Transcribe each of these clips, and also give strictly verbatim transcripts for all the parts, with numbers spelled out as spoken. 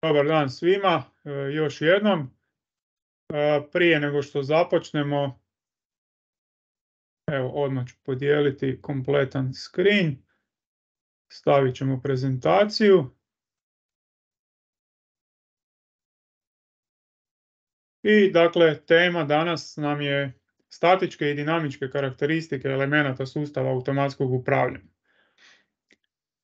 Dobar dan svima, e, još jednom. E, prije nego što započnemo, evo odmah ću podijeliti kompletan screen. Stavit ćemo prezentaciju. I dakle, tema danas nam je statičke i dinamičke karakteristike elemenata sustava automatskog upravljanja.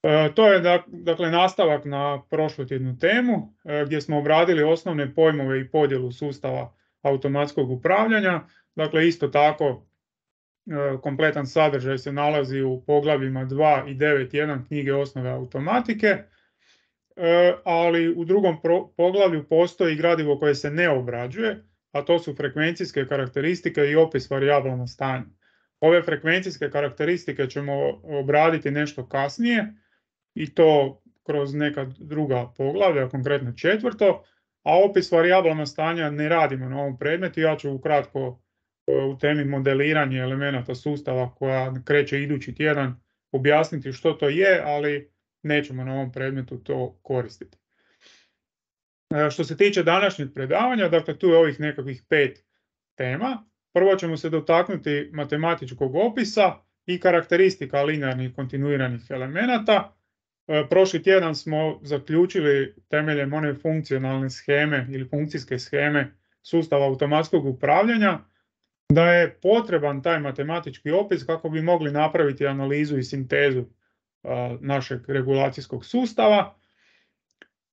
E, to je dakle nastavak na prošlotjednu temu e, gdje smo obradili osnovne pojmove i podjelu sustava automatskog upravljanja. Dakle, isto tako e, kompletan sadržaj se nalazi u poglavljima dva i devet jedan knjige Osnove automatike, e, ali u drugom pro, poglavlju postoji gradivo koje se ne obrađuje, a to su frekvencijske karakteristike i opis varijabilnog stanja. Ove frekvencijske karakteristike ćemo obraditi nešto kasnije, i to kroz neka druga poglavlja, konkretno četvrto, a opis varijabilnog stanja ne radimo na ovom predmetu. Ja ću ukratko u temi modeliranje elemenata sustava koja kreće idući tjedan objasniti što to je, ali nećemo na ovom predmetu to koristiti. Što se tiče današnjeg predavanja, dakle tu je ovih nekakvih pet tema. Prvo ćemo se dotaknuti matematičkog opisa i karakteristika linearnih kontinuiranih elemenata. Prošli tjedan smo zaključili temeljem one funkcionalne sheme ili funkcijske sheme sustava automatskog upravljanja da je potreban taj matematički opis kako bi mogli napraviti analizu i sintezu našeg regulacijskog sustava.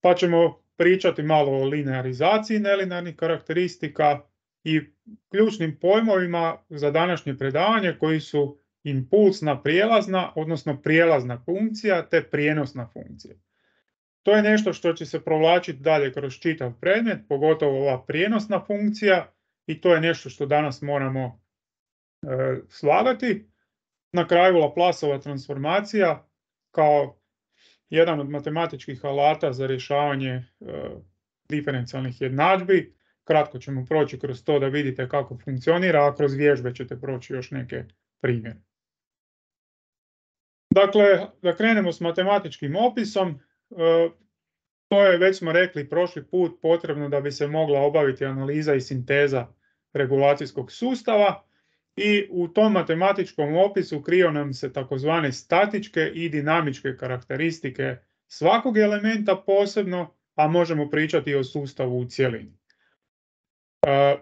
Pa ćemo pričati malo o linearizaciji nelinearnih karakteristika i ključnim pojmovima za današnje predavanje koji su impulsna prijelazna, odnosno prijelazna funkcija te prijenosna funkcija. To je nešto što će se provlačiti dalje kroz čitav predmet, pogotovo ova prijenosna funkcija, i to je nešto što danas moramo e, slagati. Na kraju Laplaceova transformacija kao jedan od matematičkih alata za rješavanje e, diferencijalnih jednadžbi. Kratko ćemo proći kroz to da vidite kako funkcionira, a kroz vježbe ćete proći još neke primjere. Dakle, da krenemo s matematičkim opisom, e, to je, već smo rekli prošli put, potrebno da bi se mogla obaviti analiza i sinteza regulacijskog sustava, i u tom matematičkom opisu kriju nam se takozvane statičke i dinamičke karakteristike svakog elementa posebno, a možemo pričati o sustavu u cjelini. E,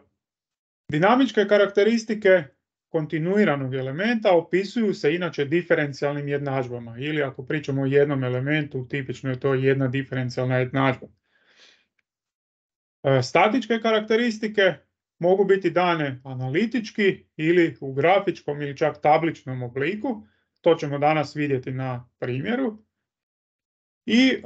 dinamičke karakteristike kontinuiranog elementa opisuju se inače diferencijalnim jednadžbama, ili ako pričamo o jednom elementu, tipično je to jedna diferencijalna jednadžba. E, statičke karakteristike mogu biti dane analitički ili u grafičkom ili čak tabličnom obliku. To ćemo danas vidjeti na primjeru. I e,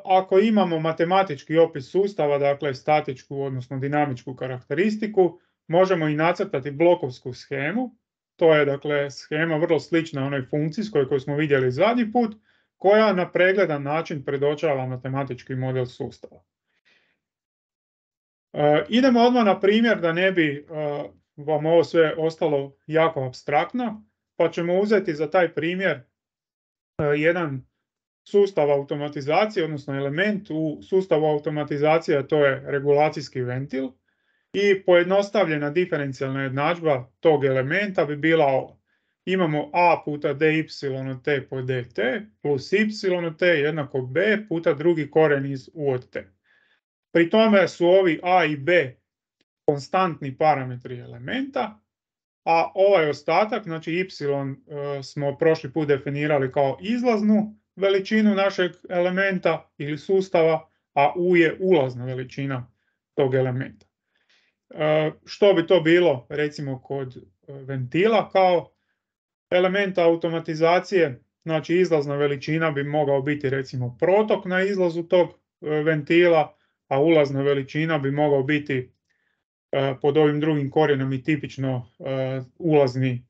ako imamo matematički opis sustava, dakle statičku odnosno dinamičku karakteristiku, možemo i nacrtati blokovsku shemu. To je dakle shema vrlo slična onoj funkcijskoj koju smo vidjeli zadnji put, koja na pregledan način predočava matematički model sustava. E, idemo odmah na primjer da ne bi e, vam ovo sve ostalo jako apstraktno, pa ćemo uzeti za taj primjer e, jedan sustav automatizacije, odnosno element u sustavu automatizacije, a to je regulacijski ventil, i pojednostavljena diferencijalna jednadžba tog elementa bi bila ova. Imamo a puta dy od t po dt plus y od t jednako b puta drugi koren iz u od t. Pri tome su ovi a i b konstantni parametri elementa, a ovaj ostatak, znači y, smo prošli put definirali kao izlaznu veličinu našeg elementa ili sustava, a u je ulazna veličina tog elementa. E, što bi to bilo recimo kod ventila kao elementa automatizacije? Znači izlazna veličina bi mogao biti recimo protok na izlazu tog e, ventila, a ulazna veličina bi mogao biti e, pod ovim drugim korijenom i tipično e, ulazni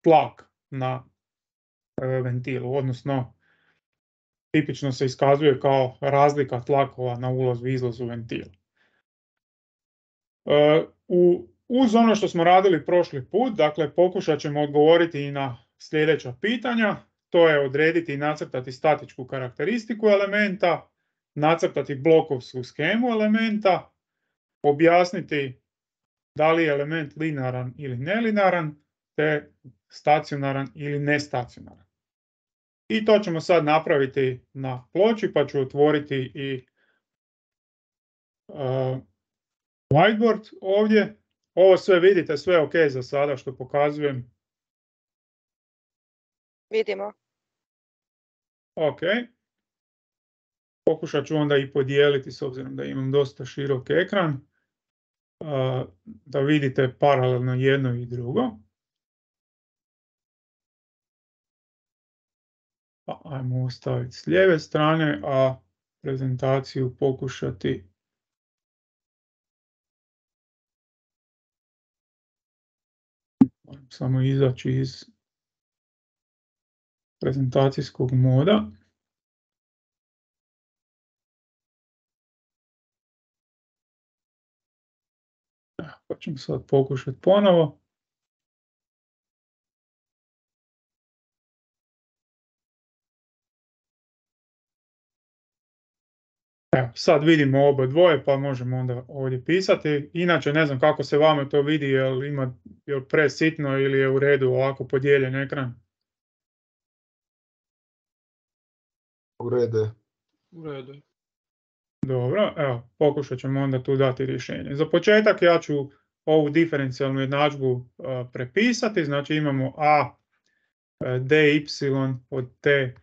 tlak na e, ventilu, odnosno tipično se iskazuje kao razlika tlakova na ulazu i izlazu ventila. E, u, uz ono što smo radili prošli put, dakle pokušat ćemo odgovoriti i na sljedeća pitanja. To je odrediti i nacrtati statičku karakteristiku elementa nacrtati blokovsku skemu elementa, objasniti da li je element linearan ili nelinaran, te stacionaran ili nestacionaran. I to ćemo sad napraviti na ploči, pa ću otvoriti i uh, whiteboard ovdje. Ovo sve vidite, sve ok za sada što pokazujem. Vidimo. Ok. Pokušat ću onda i podijeliti s obzirom da imam dosta širok ekran. Uh, da vidite paralelno jedno i drugo. Pa ajmo ostaviti s lijeve strane, a prezentaciju pokušati samo izaći iz prezentacijskog moda. Pa ćemo sad pokušati ponovo. Evo, sad vidimo oba dvoje, pa možemo onda ovdje pisati. Inače, ne znam kako se vama to vidi, jel ima jel presitno ili je u redu ovako podijeljen ekran. U redu. U redu. Dobro, evo, pokušat ćemo onda tu dati rješenje. Za početak ja ću ovu diferencijalnu jednadžbu uh, prepisati, znači imamo a uh, dy od t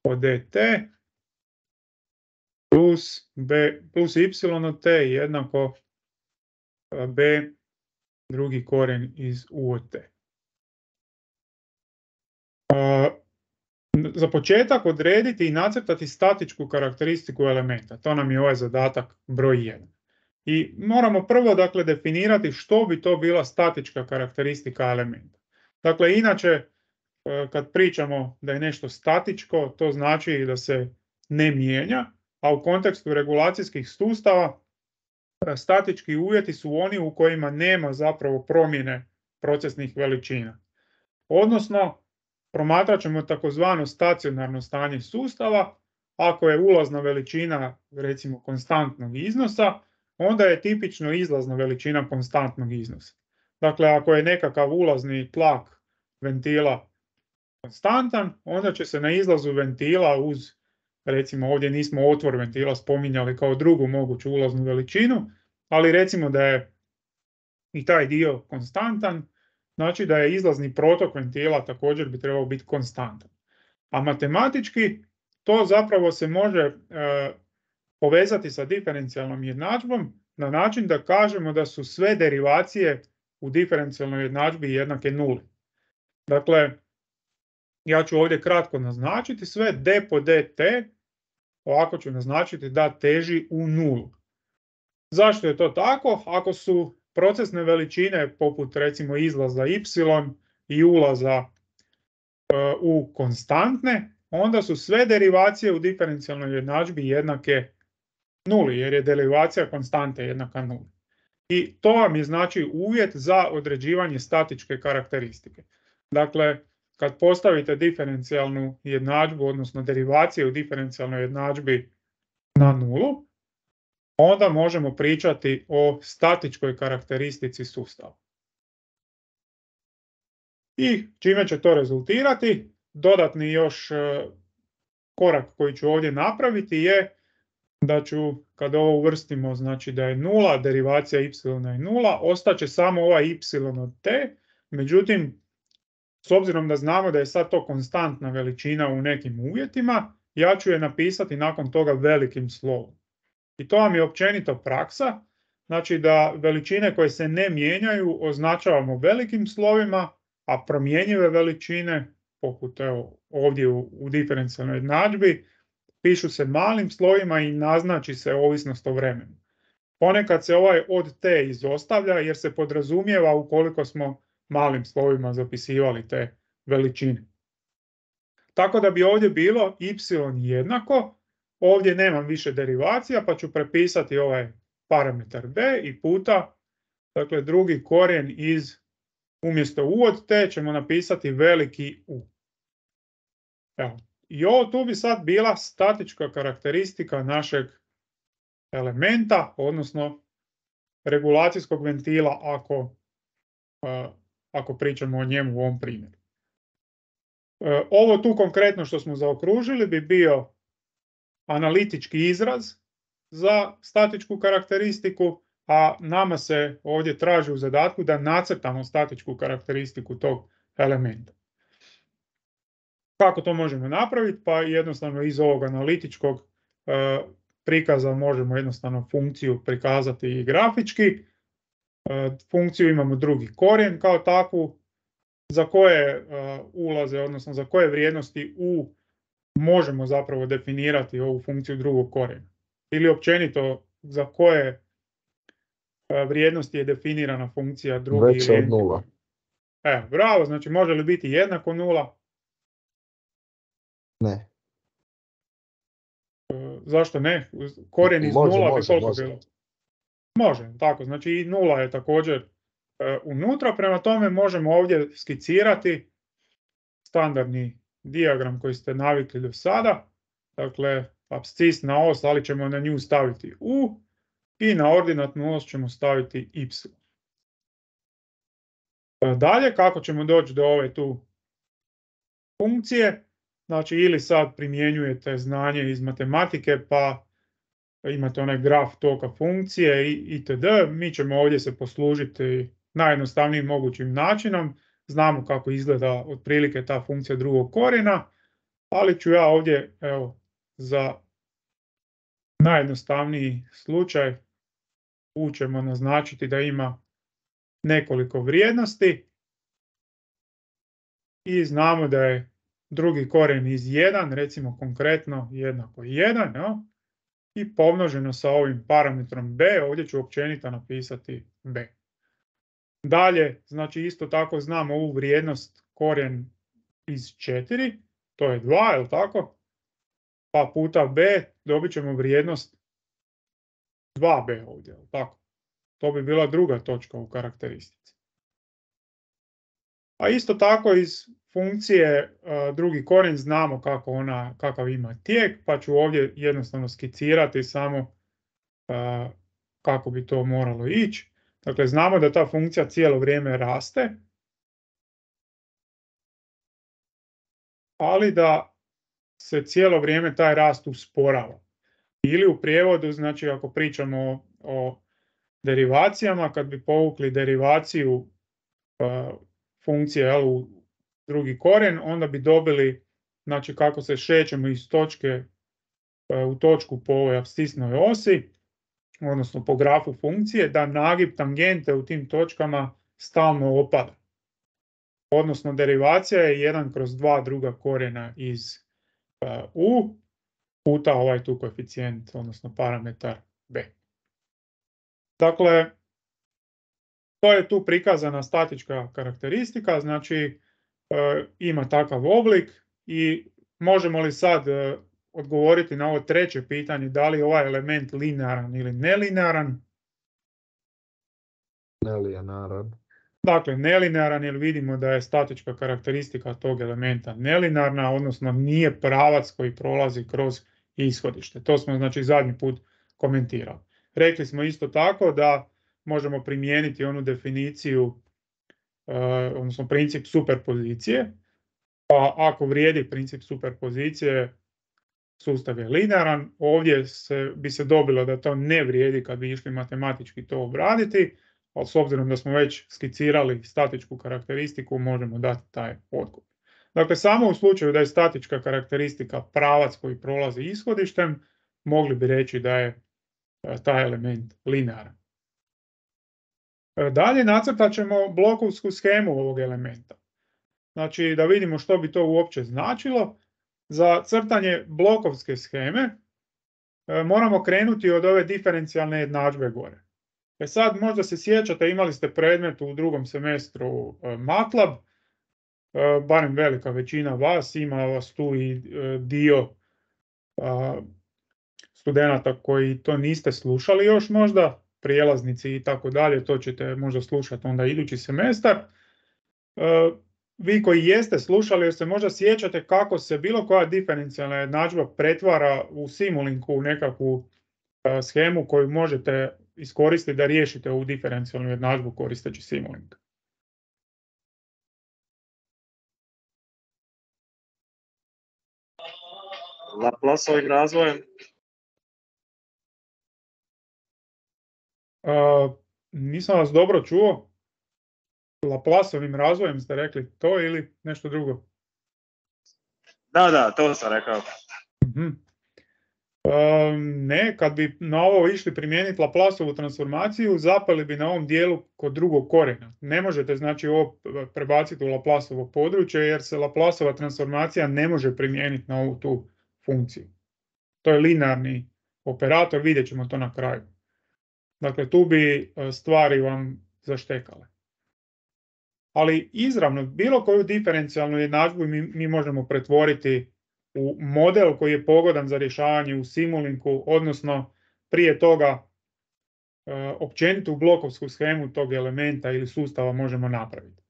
od dt plus b plus y od t jednako uh, b drugi korijen iz u od t. Uh, Za početak odrediti i nacrtati statičku karakteristiku elementa. To nam je ovaj zadatak broj jedan. I moramo prvo dakle definirati što bi to bila statička karakteristika elementa. Dakle, inače kad pričamo da je nešto statičko, to znači da se ne mijenja, a u kontekstu regulacijskih sustava statički uvjeti su oni u kojima nema zapravo promjene procesnih veličina. Odnosno, promatrat ćemo takozvano stacionarno stanje sustava. Ako je ulazna veličina recimo konstantnog iznosa, onda je tipično izlazna veličina konstantnog iznosa. Dakle, ako je nekakav ulazni tlak ventila konstantan, onda će se na izlazu ventila uz, recimo ovdje nismo otvor ventila spominjali kao drugu moguću ulaznu veličinu, ali recimo da je i taj dio konstantan, znači da je izlazni protok ventila također bi trebao biti konstantan. A matematički to zapravo se može e, povezati sa diferencijalnom jednadžbom na način da kažemo da su sve derivacije u diferencijalnoj jednadžbi jednake nuli. Dakle, ja ću ovdje kratko naznačiti sve d po dt, ovako ću naznačiti da teži u nulu. Zašto je to tako? Ako su procesne veličine poput recimo izlaza y i ulaza e, u konstantne, onda su sve derivacije u diferencijalnoj jednadžbi jednake nuli, jer je derivacija konstante jednaka nuli. I to vam je znači uvjet za određivanje statičke karakteristike. Dakle, kad postavite diferencijalnu jednadžbu, odnosno derivacije u diferencijalnoj jednadžbi na nulu, onda možemo pričati o statičkoj karakteristici sustava. I čime će to rezultirati? Dodatni još korak koji ću ovdje napraviti je da ću, kad ovo uvrstimo, znači da je nula, derivacija y je nula, ostaće samo ova y od t, međutim, s obzirom da znamo da je sad to konstantna veličina u nekim uvjetima, ja ću je napisati nakon toga velikim slovom. I to vam je općenito praksa, znači da veličine koje se ne mijenjaju označavamo velikim slovima, a promjenjive veličine, poput evo, ovdje u, u diferencijalnoj jednadžbi, pišu se malim slovima i naznači se ovisnost o vremenu. Ponekad se ovaj od t izostavlja jer se podrazumijeva ukoliko smo malim slovima zapisivali te veličine. Tako da bi ovdje bilo y jednako, ovdje nemam više derivacija pa ću prepisati ovaj parametar b i puta, dakle drugi korijen iz, umjesto u od t ćemo napisati veliki u. Evo, I ovo tu bi sad bila statička karakteristika našeg elementa, odnosno regulacijskog ventila ako, uh, ako pričamo o njemu u ovom primjeru. Uh, ovo tu konkretno što smo zaokružili bi bio analitički izraz za statičku karakteristiku, a nama se ovdje traži u zadatku da nacrtamo statičku karakteristiku tog elementa. Kako to možemo napraviti? Pa jednostavno iz ovog analitičkog e, prikaza možemo jednostavno funkciju prikazati i grafički. E, funkciju imamo drugi korijen kao takvu, za koje e, ulaze, odnosno za koje vrijednosti u možemo zapravo definirati ovu funkciju drugog korijena. Ili općenito za koje e, vrijednosti je definirana funkcija drugi Veća ili od nula. E, bravo, znači može li biti jednako nula? Ne. E, zašto ne? Korijen iz Može, nula bi može, koliko može. bilo? Može, tako, znači i nula je također e, unutra, prema tome možemo ovdje skicirati standardni dijagram koji ste navikli do sada, dakle apscis na os, ali ćemo na nju staviti u i na ordinatnu os ćemo staviti y. E, dalje, kako ćemo doći do ove tu funkcije? Znači ili sad primjenjujete znanje iz matematike pa imate onaj graf toka funkcije i itd. Mi ćemo ovdje se poslužiti najjednostavnijim mogućim načinom. Znamo kako izgleda otprilike ta funkcija drugog korijena, ali ću ja ovdje evo, za najjednostavniji slučaj u ćemo naznačiti da ima nekoliko vrijednosti i znamo da je drugi korijen iz jedan, recimo konkretno jednako jedan, no? I pomnoženo sa ovim parametrom b, ovdje ću općenito napisati b. Dalje, znači isto tako znam ovu vrijednost korijen iz četiri, to je dva, je li tako? Pa puta b dobit ćemo vrijednost dva b ovdje, je li tako? To bi bila druga točka u karakteristici. A isto tako iz funkcije uh, drugi korijen znamo kako ona, kakav ima tijek, pa ću ovdje jednostavno skicirati samo uh, kako bi to moralo ići. Dakle, znamo da ta funkcija cijelo vrijeme raste, ali da se cijelo vrijeme taj rast usporava. Ili u prijevodu, znači ako pričamo o, o derivacijama, kad bi povukli derivaciju uh, funkcije jel, u drugi korijen, onda bi dobili, znači kako se šećemo iz točke uh, u točku po ovoj apscisnoj osi, odnosno po grafu funkcije, da nagib tangente u tim točkama stalno opada. Odnosno derivacija je jedan kroz dva druga korijena iz uh, u puta ovaj tu koeficijent, odnosno parametar b. Dakle, to je tu prikazana statička karakteristika, znači uh, ima takav oblik i možemo li sad uh, odgovoriti na ovo treće pitanje, da li je ovaj element linearan ili nelinearan? Nelinearan. Dakle, nelinearan jer vidimo da je statička karakteristika tog elementa nelinearna, odnosno nije pravac koji prolazi kroz ishodište. To smo znači zadnji put komentirali. Rekli smo isto tako da možemo primijeniti onu definiciju, odnosno princip superpozicije. Pa ako vrijedi princip superpozicije, sustav je linearan. Ovdje se, bi se dobilo da to ne vrijedi kad bi išli matematički to obraditi, ali s obzirom da smo već skicirali statičku karakteristiku, možemo dati taj odgovor. Dakle, samo u slučaju da je statička karakteristika pravac koji prolazi ishodištem, mogli bi reći da je taj element linearan. Dalje nacrtat ćemo blokovsku shemu ovog elementa. Znači, da vidimo što bi to uopće značilo. Za crtanje blokovske sheme moramo krenuti od ove diferencijalne jednadžbe gore. E sad, možda se sjećate, imali ste predmet u drugom semestru MATLAB, barem velika većina vas, ima vas tu i dio studenata koji to niste slušali još možda, prijelaznici i tako dalje, to ćete možda slušati onda idući semestar. vi koji jeste slušali, jer se možda sjećate kako se bilo koja diferencijalna jednadžba pretvara u Simulinku, u nekakvu a, shemu koju možete iskoristiti da riješite ovu diferencijalnu jednadžbu koristeći Simulink. Laplaceovim razvojem? A, nisam vas dobro čuo. Laplaceovim razvojem ste rekli to ili nešto drugo? Da, da, to sam rekao. Mm-hmm. A, ne, kad bi na ovo išli primijeniti Laplaceovu transformaciju, zapali bi na ovom dijelu kod drugog korijena. Ne možete znači ovo prebaciti u Laplaceovo područje jer se Laplaceova transformacija ne može primijeniti na ovu tu funkciju. To je linearni operator, vidjet ćemo to na kraju. Dakle, tu bi stvari vam zaštekale. Ali izravno, bilo koju diferencijalnu jednadžbu mi, mi možemo pretvoriti u model koji je pogodan za rješavanje u Simulinku, odnosno prije toga e, općenito u blokovsku shemu tog elementa ili sustava možemo napraviti.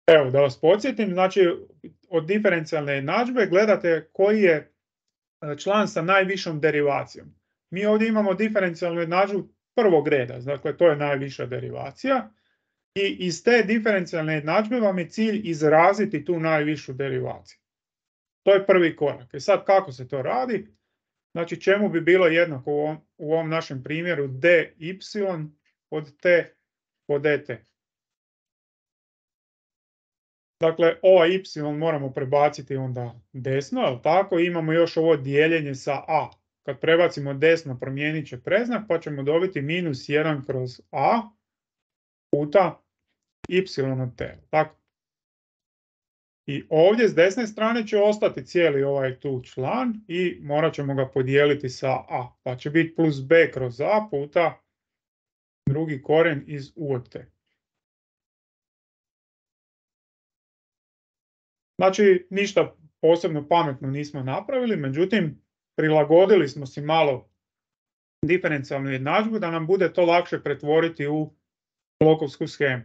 Evo, da vas podsjetim, znači od diferencijalne jednadžbe gledate koji je član sa najvišom derivacijom. Mi ovdje imamo diferencijalnu jednadžbu prvog reda, dakle to je najviša derivacija i iz te diferencijalne jednadžbe vam je cilj izraziti tu najvišu derivaciju. To je prvi korak. I sad kako se to radi? Znači čemu bi bilo jednako u ovom, u ovom našem primjeru dy od t po dt. Dakle, ovaj y moramo prebaciti onda desno, jel tako? Imamo još ovo dijeljenje sa a. Kad prebacimo desno, promijenit će predznak, pa ćemo dobiti minus jedan kroz a puta y od t. Tako. I ovdje s desne strane će ostati cijeli ovaj tu član i morat ćemo ga podijeliti sa a. Pa će biti plus b kroz a puta drugi korijen iz u od t. Znači, ništa posebno pametno nismo napravili, međutim, prilagodili smo si malo diferencijalnu jednadžbu da nam bude to lakše pretvoriti u blokovsku shemu.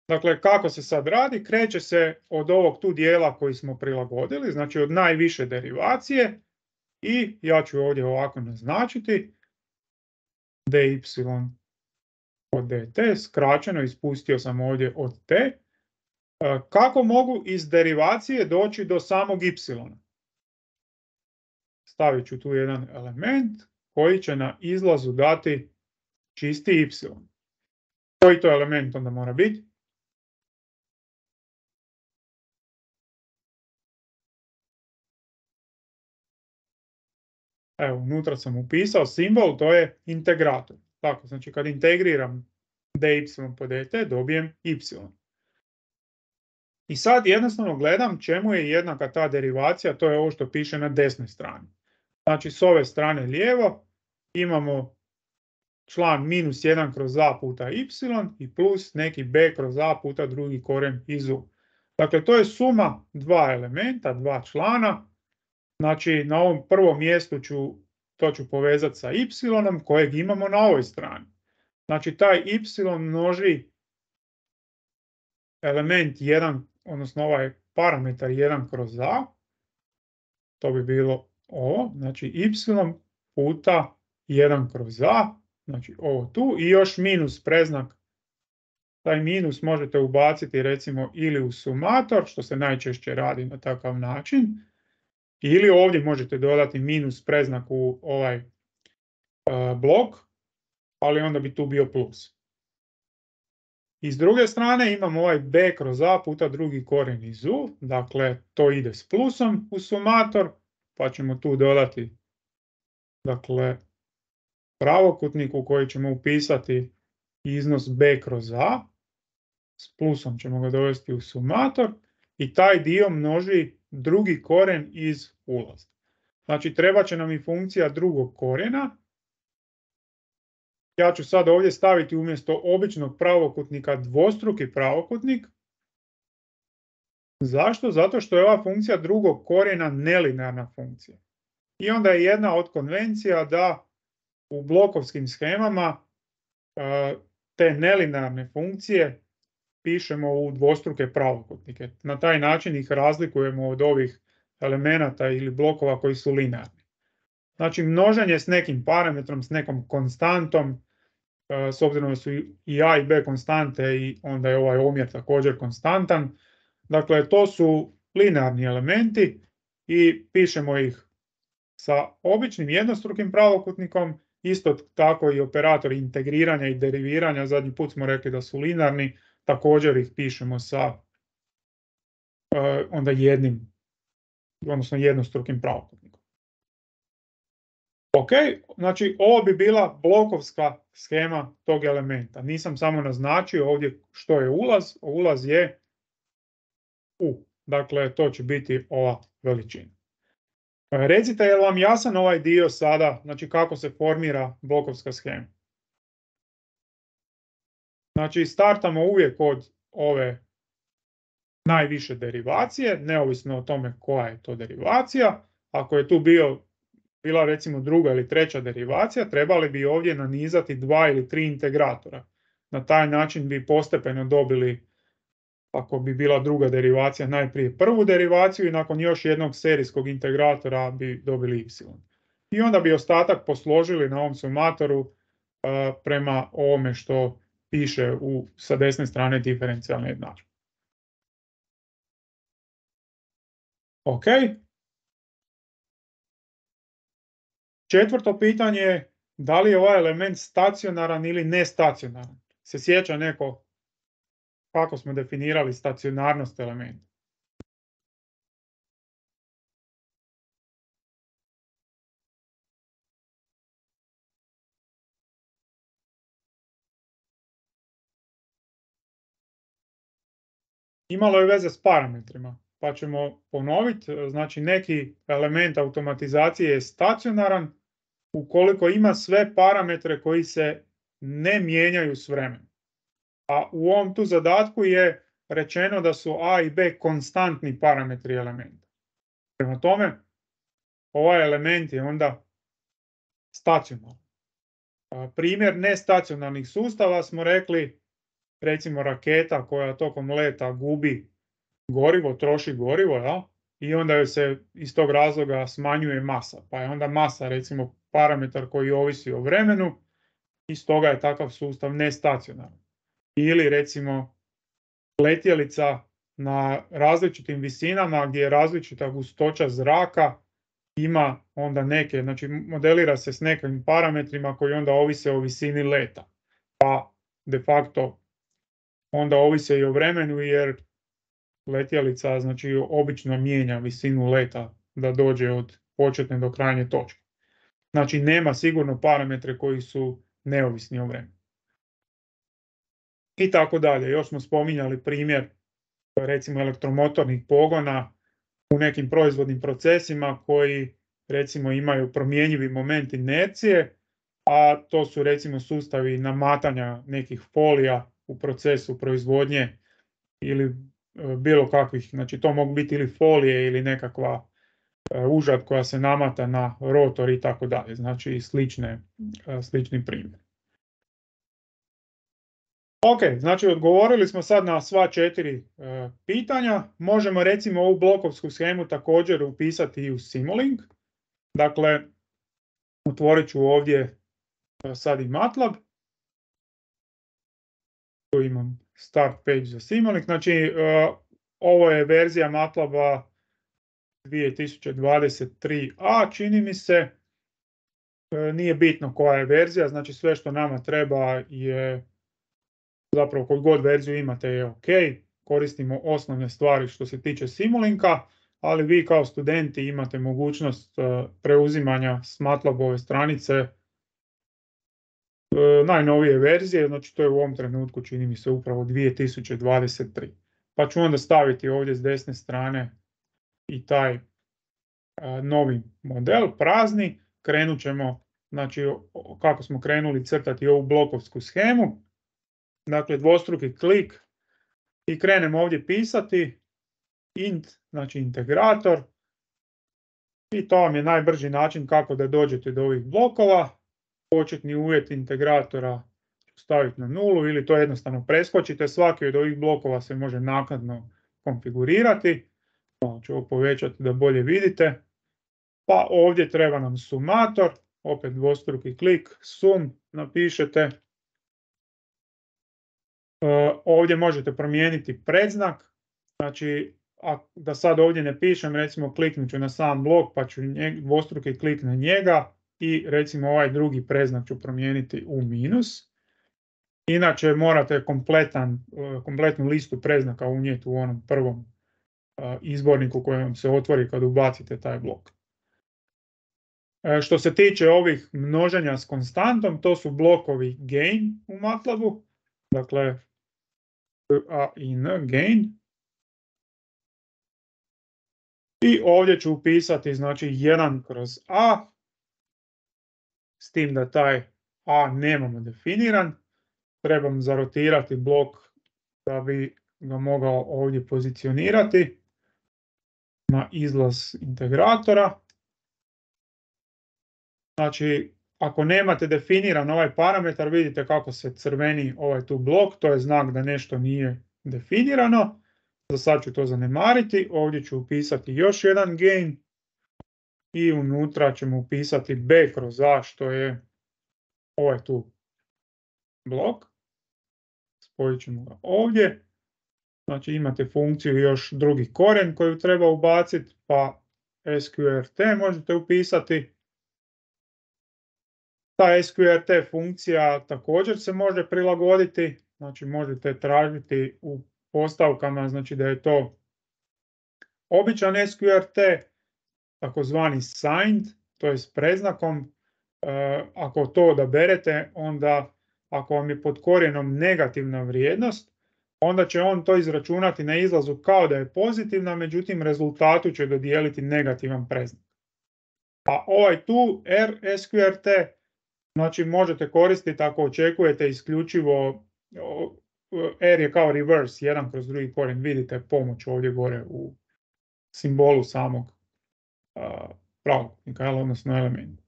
Dakle, kako se sad radi? Kreće se od ovog tu dijela koji smo prilagodili, znači od najviše derivacije i ja ću ovdje ovako naznačiti dy od dt, skraćeno, ispustio sam ovdje od t. Kako mogu iz derivacije doći do samog y? Stavit ću tu jedan element koji će na izlazu dati čisti y. Koji to element onda mora biti? Evo, unutra sam upisao simbol, to je integrator. Tako, znači kad integriram dy po dt, dobijem y. I sad jednostavno gledam čemu je jednaka ta derivacija, to je ovo što piše na desnoj strani. Znači s ove strane lijevo imamo član minus jedan kroz a puta y i plus neki b kroz a puta drugi korijen iz u. Dakle, to je suma dva elementa, dva člana. Znači na ovom prvom mjestu ću, to ću povezati sa y kojeg imamo na ovoj strani. Znači taj y množi element jedan, odnosno ovaj parametar jedan kroz a, to bi bilo ovo, znači y puta jedan kroz a, znači ovo tu i još minus predznak. Taj minus možete ubaciti recimo ili u sumator, što se najčešće radi na takav način, ili ovdje možete dodati minus predznak u ovaj uh, blok, ali onda bi tu bio plus. I s druge strane imamo ovaj b kroz a puta drugi korijen iz u, dakle to ide s plusom u sumator, pa ćemo tu dodati dakle pravokutnik u koji ćemo upisati iznos b kroz a, s plusom ćemo ga dovesti u sumator i taj dio množi drugi korijen iz ulaza. Znači treba će nam i funkcija drugog korijena. Ja ću sad ovdje staviti umjesto običnog pravokutnika dvostruki pravokutnik. Zašto? Zato što je ova funkcija drugog korijena nelinearna funkcija. I onda je jedna od konvencija da u blokovskim shemama te nelinearne funkcije pišemo u dvostruke pravokutnike. Na taj način ih razlikujemo od ovih elemenata ili blokova koji su linearni. Znači množenje s nekim parametrom, s nekom konstantom, s obzirom da su i a i b konstante i onda je ovaj omjer također konstantan. Dakle, to su linearni elementi i pišemo ih sa običnim jednostrukim pravokutnikom, isto tako i operatori integriranja i deriviranja, zadnji put smo rekli da su linearni, također ih pišemo sa uh, onda jednim, odnosno jednostrukim pravokutnikom. Ok, znači ovo bi bila blokovska shema tog elementa. Nisam samo naznačio ovdje što je ulaz, ulaz je U. Dakle, to će biti ova veličina. Recite, je li vam jasan ovaj dio sada, znači kako se formira blokovska shema? Znači, startamo uvijek od ove najviše derivacije, neovisno o tome koja je to derivacija. Ako je tu bio, bila recimo druga ili treća derivacija, trebali bi ovdje nanizati dva ili tri integratora. Na taj način bi postepeno dobili, ako bi bila druga derivacija, najprije prvu derivaciju i nakon još jednog serijskog integratora bi dobili y. I onda bi ostatak posložili na ovom sumatoru uh, prema ovome što piše u, sa desne strane diferencijalne jednadžbe. Ok. Četvrto pitanje je da li je ovaj element stacionaran ili nestacionaran. Se sjeća neko kako smo definirali stacionarnost elementa? Imalo je veze s parametrima, pa ćemo ponoviti. Znači, neki element automatizacije je stacionaran ukoliko ima sve parametre koji se ne mijenjaju s vremenom. A u ovom tu zadatku je rečeno da su a i b konstantni parametri elementa. Prema tome, ovaj element je onda stacionaran. Primjer nestacionarnih sustava smo rekli, recimo raketa koja tokom leta gubi gorivo, troši gorivo, ja? I onda joj se iz tog razloga smanjuje masa. Pa je onda masa recimo parametar koji ovisi o vremenu i stoga je takav sustav nestacionaran. Ili recimo letjelica na različitim visinama gdje je različita gustoća zraka, ima onda neke, znači modelira se s nekim parametrima koji onda ovise o visini leta. Pa de facto onda ovise i o vremenu jer letjelica znači obično mijenja visinu leta da dođe od početne do krajnje točke. Znači nema sigurno parametre koji su neovisni o vremenu. I tako dalje. Još smo spominjali primjer recimo elektromotornih pogona u nekim proizvodnim procesima koji recimo imaju promjenjivi moment inercije, a to su recimo sustavi namatanja nekih folija u procesu proizvodnje ili bilo kakvih, znači to mogu biti ili folije ili nekakva užad koja se namata na rotor i tako dalje, znači slične, slični primjer. Ok, znači odgovorili smo sad na sva četiri e, pitanja. Možemo recimo ovu blokovsku shemu također upisati i u Simulink. Dakle, otvorit ću ovdje e, sad i MATLAB. Tu imam start page za Simulink. Znači, e, ovo je verzija MATLABa dvije tisuće dvadeset tri a, čini mi se. E, nije bitno koja je verzija, znači sve što nama treba je zapravo koju god verziju imate je ok, koristimo osnovne stvari što se tiče Simulinka, ali vi kao studenti imate mogućnost preuzimanja s MATLABove stranice najnovije verzije, znači to je u ovom trenutku čini mi se upravo dvije tisuće dvadeset tri. Pa ću onda staviti ovdje s desne strane i taj novi model, prazni, krenut ćemo, znači kako smo krenuli crtati ovu blokovsku shemu. Dakle, dvostruki klik i krenemo ovdje pisati int, znači integrator. I to vam je najbrži način kako da dođete do ovih blokova. Početni uvjet integratora staviti na nulu ili to jednostavno preskočite. Svaki od ovih blokova se može naknadno konfigurirati. Malo ću ovo povećati da bolje vidite. Pa ovdje treba nam sumator, opet dvostruki klik, sum napišete. Ovdje možete promijeniti predznak, znači da sad ovdje ne pišem, recimo kliknut ću na sam blok pa ću dvostruki klik na njega i recimo ovaj drugi predznak ću promijeniti u minus. Inače morate kompletan, kompletnu listu predznaka unijeti u onom prvom izborniku koji vam se otvori kad ubacite taj blok. Što se tiče ovih množenja s konstantom, to su blokovi gain u MATLABu, dakle a i n, gain. I ovdje ću upisati znači jedan kroz a, s tim da taj a nemamo definiran. Trebam zarotirati blok da bi ga mogao ovdje pozicionirati na izlaz integratora. Znači, ako nemate definiran ovaj parametar, vidite kako se crveni ovaj tu blok, to je znak da nešto nije definirano. Za sad ću to zanemariti, ovdje ću upisati još jedan gain i unutra ćemo upisati b kroz a, što je ovaj tu blok. Spojit ćemo ga ovdje. Znači imate funkciju još drugi korijen koju treba ubaciti, pa es kvu er te možete upisati. Ta es kvu er te funkcija također se može prilagoditi, znači možete tražiti u postavkama, znači da je to običan es kvu er te, takozvani signed, to je s predznakom. E, ako to odaberete, onda ako vam je pod korijenom negativna vrijednost, onda će on to izračunati na izlazu kao da je pozitivna, međutim rezultatu će dodijeliti negativan predznak. A ovaj tu R es kvu er te, znači možete koristiti ako očekujete isključivo, R je kao reverse, jedan kroz drugi korijen, vidite pomoć ovdje gore u simbolu samog uh, pravokutnika, odnosno elementa.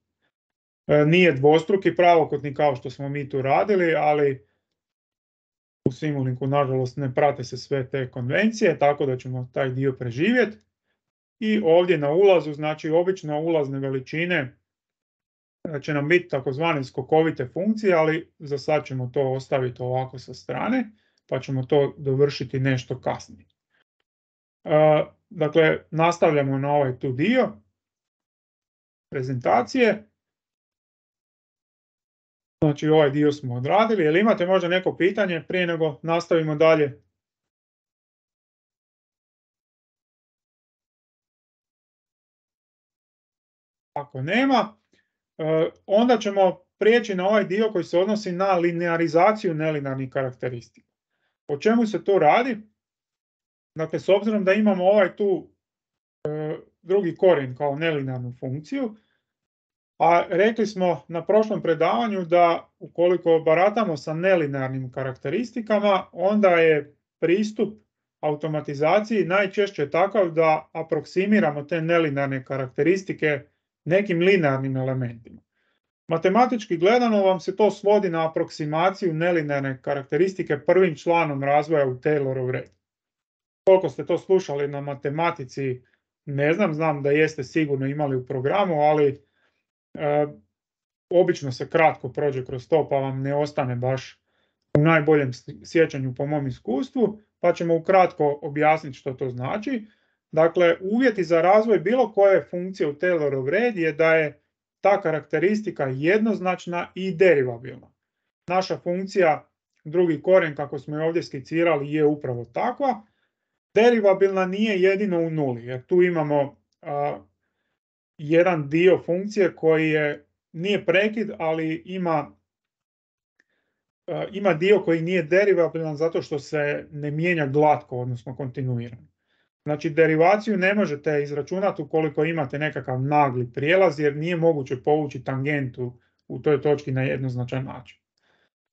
Uh, nije dvostruki pravokutnik kao što smo mi tu radili, ali u Simulinku nažalost ne prate se sve te konvencije, tako da ćemo taj dio preživjeti. I ovdje na ulazu, znači obično ulazne veličine će nam biti takozvane skokovite funkcije, ali za sad ćemo to ostaviti ovako sa strane, pa ćemo to dovršiti nešto kasnije. Uh, dakle, nastavljamo na ovaj tu dio prezentacije. Znači ovaj dio smo odradili. Jel imate možda neko pitanje prije nego nastavimo dalje? Ako nema, onda ćemo prijeći na ovaj dio koji se odnosi na linearizaciju nelinearnih karakteristika. O čemu se tu radi? Dakle, s obzirom da imamo ovaj tu drugi korijen kao nelinearnu funkciju, a rekli smo na prošlom predavanju da ukoliko baratamo sa nelinearnim karakteristikama, onda je pristup automatizaciji najčešće takav da aproksimiramo te nelinearne karakteristike nekim linearnim elementima. Matematički gledano vam se to svodi na aproksimaciju nelinearne karakteristike prvim članom razvoja u Taylorov red. Koliko ste to slušali na matematici, ne znam, znam da jeste sigurno imali u programu, ali e, obično se kratko prođe kroz to pa vam ne ostane baš u najboljem sjećanju po mom iskustvu, pa ćemo ukratko objasniti što to znači. Dakle, uvjeti za razvoj bilo koje funkcije u Taylorov red je da je ta karakteristika jednoznačna i derivabilna. Naša funkcija, drugi korijen kako smo je ovdje skicirali, je upravo takva. Derivabilna nije jedino u nuli, jer tu imamo a, jedan dio funkcije koji je, nije prekid, ali ima, a, ima dio koji nije derivabilan zato što se ne mijenja glatko, odnosno kontinuirano. Znači, derivaciju ne možete izračunati ukoliko imate nekakav nagli prijelaz, jer nije moguće povući tangentu u toj točki na jednoznačan način.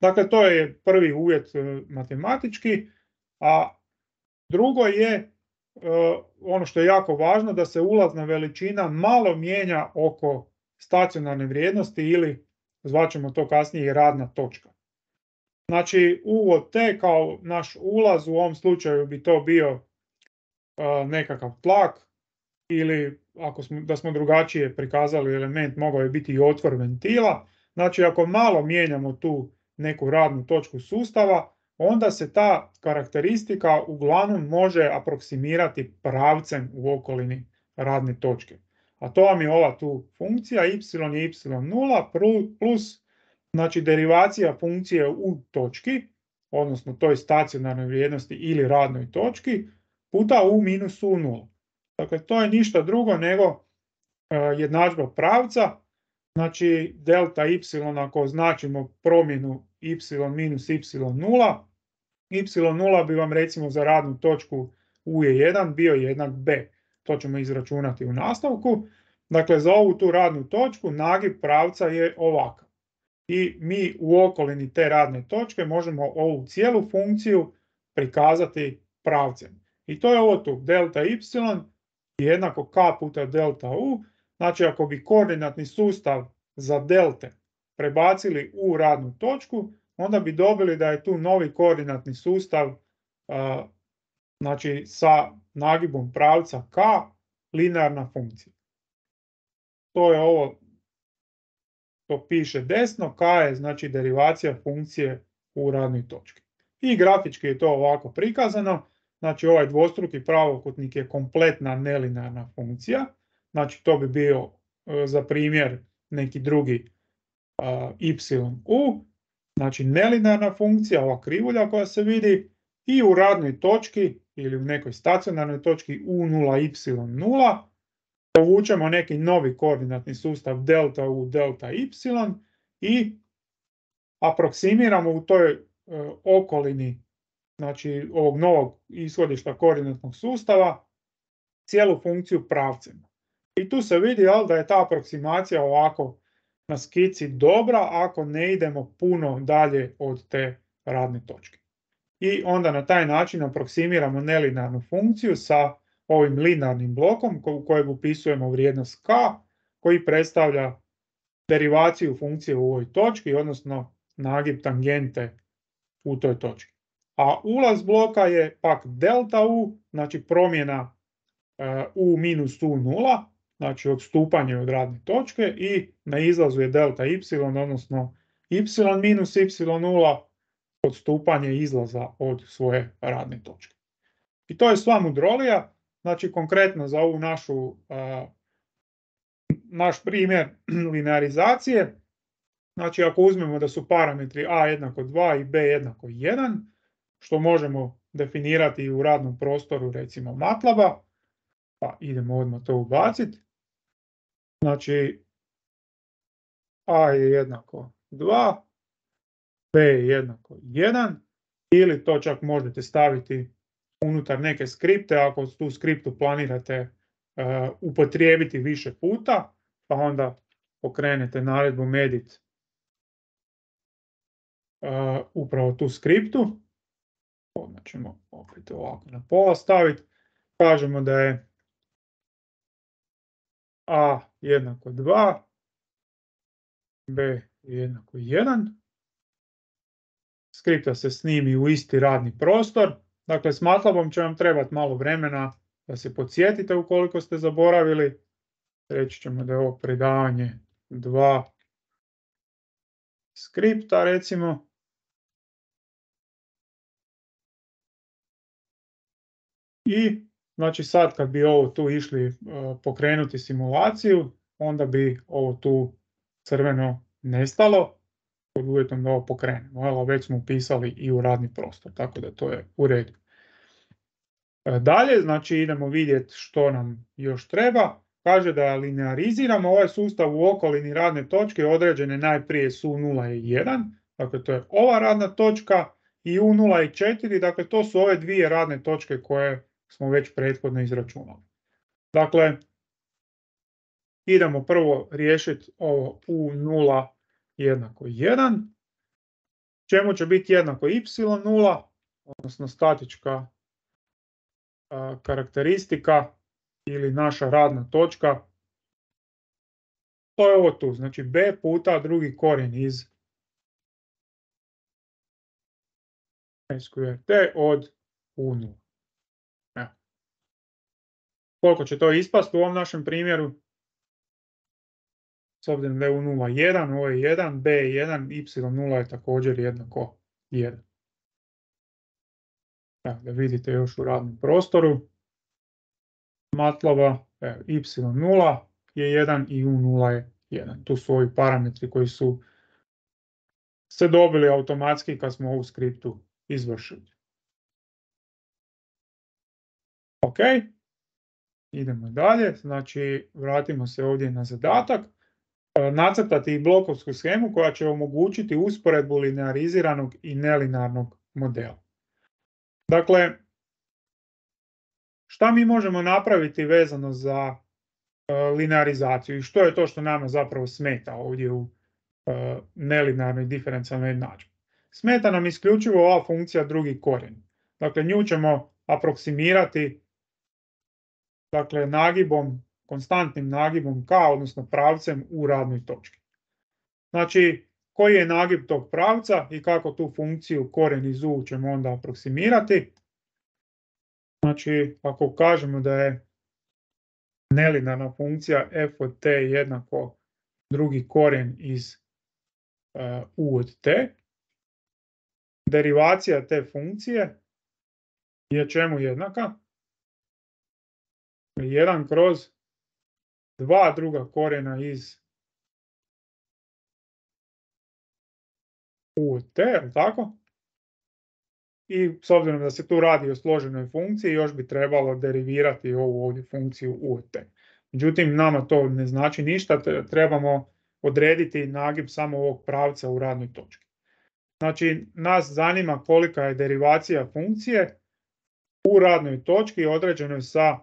Dakle, to je prvi uvjet matematički, a drugo je ono što je jako važno, da se ulazna veličina malo mijenja oko stacionarne vrijednosti ili zvaćemo to kasnije i radna točka. Znači uvod T kao naš ulaz, u ovom slučaju bi to bio a, nekakav tlak, ili ako smo, da smo drugačije prikazali element, mogao je biti i otvor ventila. Znači ako malo mijenjamo tu neku radnu točku sustava, onda se ta karakteristika uglavnom može aproksimirati pravcem u okolini radne točke. A to vam je ova tu funkcija, y je y nula plus, znači derivacija funkcije u točki, odnosno toj stacionarnoj vrijednosti ili radnoj točki, puta u minus u nula. Dakle, to je ništa drugo nego uh, jednadžba pravca. Znači, delta y, ako označimo promjenu y minus y nula, y nula bi vam recimo za radnu točku u je jedan bio jednak b. To ćemo izračunati u nastavku. Dakle, za ovu tu radnu točku nagib pravca je ovakav. I mi u okolini te radne točke možemo ovu cijelu funkciju prikazati pravcem. I to je ovo tu, delta y jednako k puta delta u. Znači ako bi koordinatni sustav za delte prebacili u radnu točku, onda bi dobili da je tu novi koordinatni sustav a, znači sa nagibom pravca k linearna funkcija. To je ovo, to piše desno, k je znači derivacija funkcije u radnoj točki. I grafički je to ovako prikazano. Znači ovaj dvostruki pravokutnik je kompletna nelinearna funkcija. Znači to bi bio e, za primjer neki drugi a, y(u). Znači nelinearna funkcija, ova krivulja koja se vidi, i u radnoj točki ili u nekoj stacionarnoj točki u nula y nula povučemo neki novi koordinatni sustav delta u delta y i aproksimiramo u toj e, okolini, znači ovog novog ishodišta koordinatnog sustava, cijelu funkciju pravcem. I tu se vidi jel, da je ta aproksimacija ovako na skici dobra ako ne idemo puno dalje od te radne točke. I onda na taj način aproksimiramo nelinearnu funkciju sa ovim linearnim blokom u kojeg upisujemo vrijednost k, koji predstavlja derivaciju funkcije u ovoj točki, odnosno nagib tangente u toj točki. A ulaz bloka je pak delta u, znači promjena uh, u minus u nula, znači odstupanje od radne točke, i na izlazu je delta y, odnosno y minus y nula, odstupanje izlaza od svoje radne točke. I to je sva mudrolija. Znači konkretno za ovu našu, uh, naš primjer linearizacije, znači ako uzmemo da su parametri a jednako dva i b jednako jedan, što možemo definirati u radnom prostoru recimo MATLAB-a, pa idemo odmah to ubaciti. Znači a je jednako dva, b je jednako jedan, ili to čak možete staviti unutar neke skripte ako tu skriptu planirate uh, upotrijebiti više puta, pa onda pokrenete naredbom edit uh, upravo tu skriptu. Odmah ćemo opet ovako na pola staviti. Kažemo da je a jednako dva, b jednako jedan. Skripta se snimi u isti radni prostor. Dakle, s MATLABom će vam trebati malo vremena da se podsjetite ukoliko ste zaboravili. Reći ćemo da je ovo predavanje dva skripta, recimo. I znači sad kad bi ovo tu išli uh, pokrenuti simulaciju, onda bi ovo tu crveno nestalo, pod uvjetom da ovo pokrenemo. Ali već smo upisali i u radni prostor, tako da to je u redu. Uh, dalje, znači idemo vidjeti što nam još treba. Kaže da lineariziramo ovaj sustav u okolini radne točke određene najprije s u nula i jedan, dakle to je ova radna točka, i u nula i četiri, dakle to su ove dvije radne točke koje smo već prethodno izračunali. Dakle, idemo prvo riješiti ovo u nula jednako jedan, čemu će biti jednako y nula, odnosno statička a, karakteristika ili naša radna točka. To je ovo tu, znači b puta drugi korijen iz sqrt od u nula. Evo. Koliko će to ispasti u ovom našem primjeru? S obzirom da je u nula jedan, ovo je jedan, b je jedan, y nula je također jednako jedan. Evo, da vidite još u radnom prostoru MATLAB-a, y nula je jedan i u nula je jedan. Tu su ovi parametri koji su se dobili automatski kad smo ovu skriptu izvršili. Ok, idemo dalje, znači vratimo se ovdje na zadatak. Nacrtati blokovsku shemu koja će omogućiti usporedbu lineariziranog i nelinearnog modela. Dakle, šta mi možemo napraviti vezano za uh, linearizaciju i što je to što nama zapravo smeta ovdje u uh, nelinearnoj diferencijalnoj jednadžbi? Smeta nam isključivo ova funkcija drugi korijen. Dakle, nju ćemo aproksimirati dakle, nagibom, konstantnim nagibom k, odnosno pravcem u radnoj točki. Znači, koji je nagib tog pravca i kako tu funkciju korijen iz u ćemo onda aproksimirati. Znači, ako kažemo da je nelinearna funkcija f od t jednako drugi korijen iz uh, u od t, derivacija te funkcije je čemu jednaka? jedan kroz dva druga korijena iz u od t, tako? I s obzirom da se tu radi o složenoj funkciji, još bi trebalo derivirati ovu ovdje funkciju u od t. Međutim, nama to ne znači ništa, trebamo odrediti nagib samo ovog pravca u radnoj točki. Znači, nas zanima kolika je derivacija funkcije u radnoj točki određenoj sa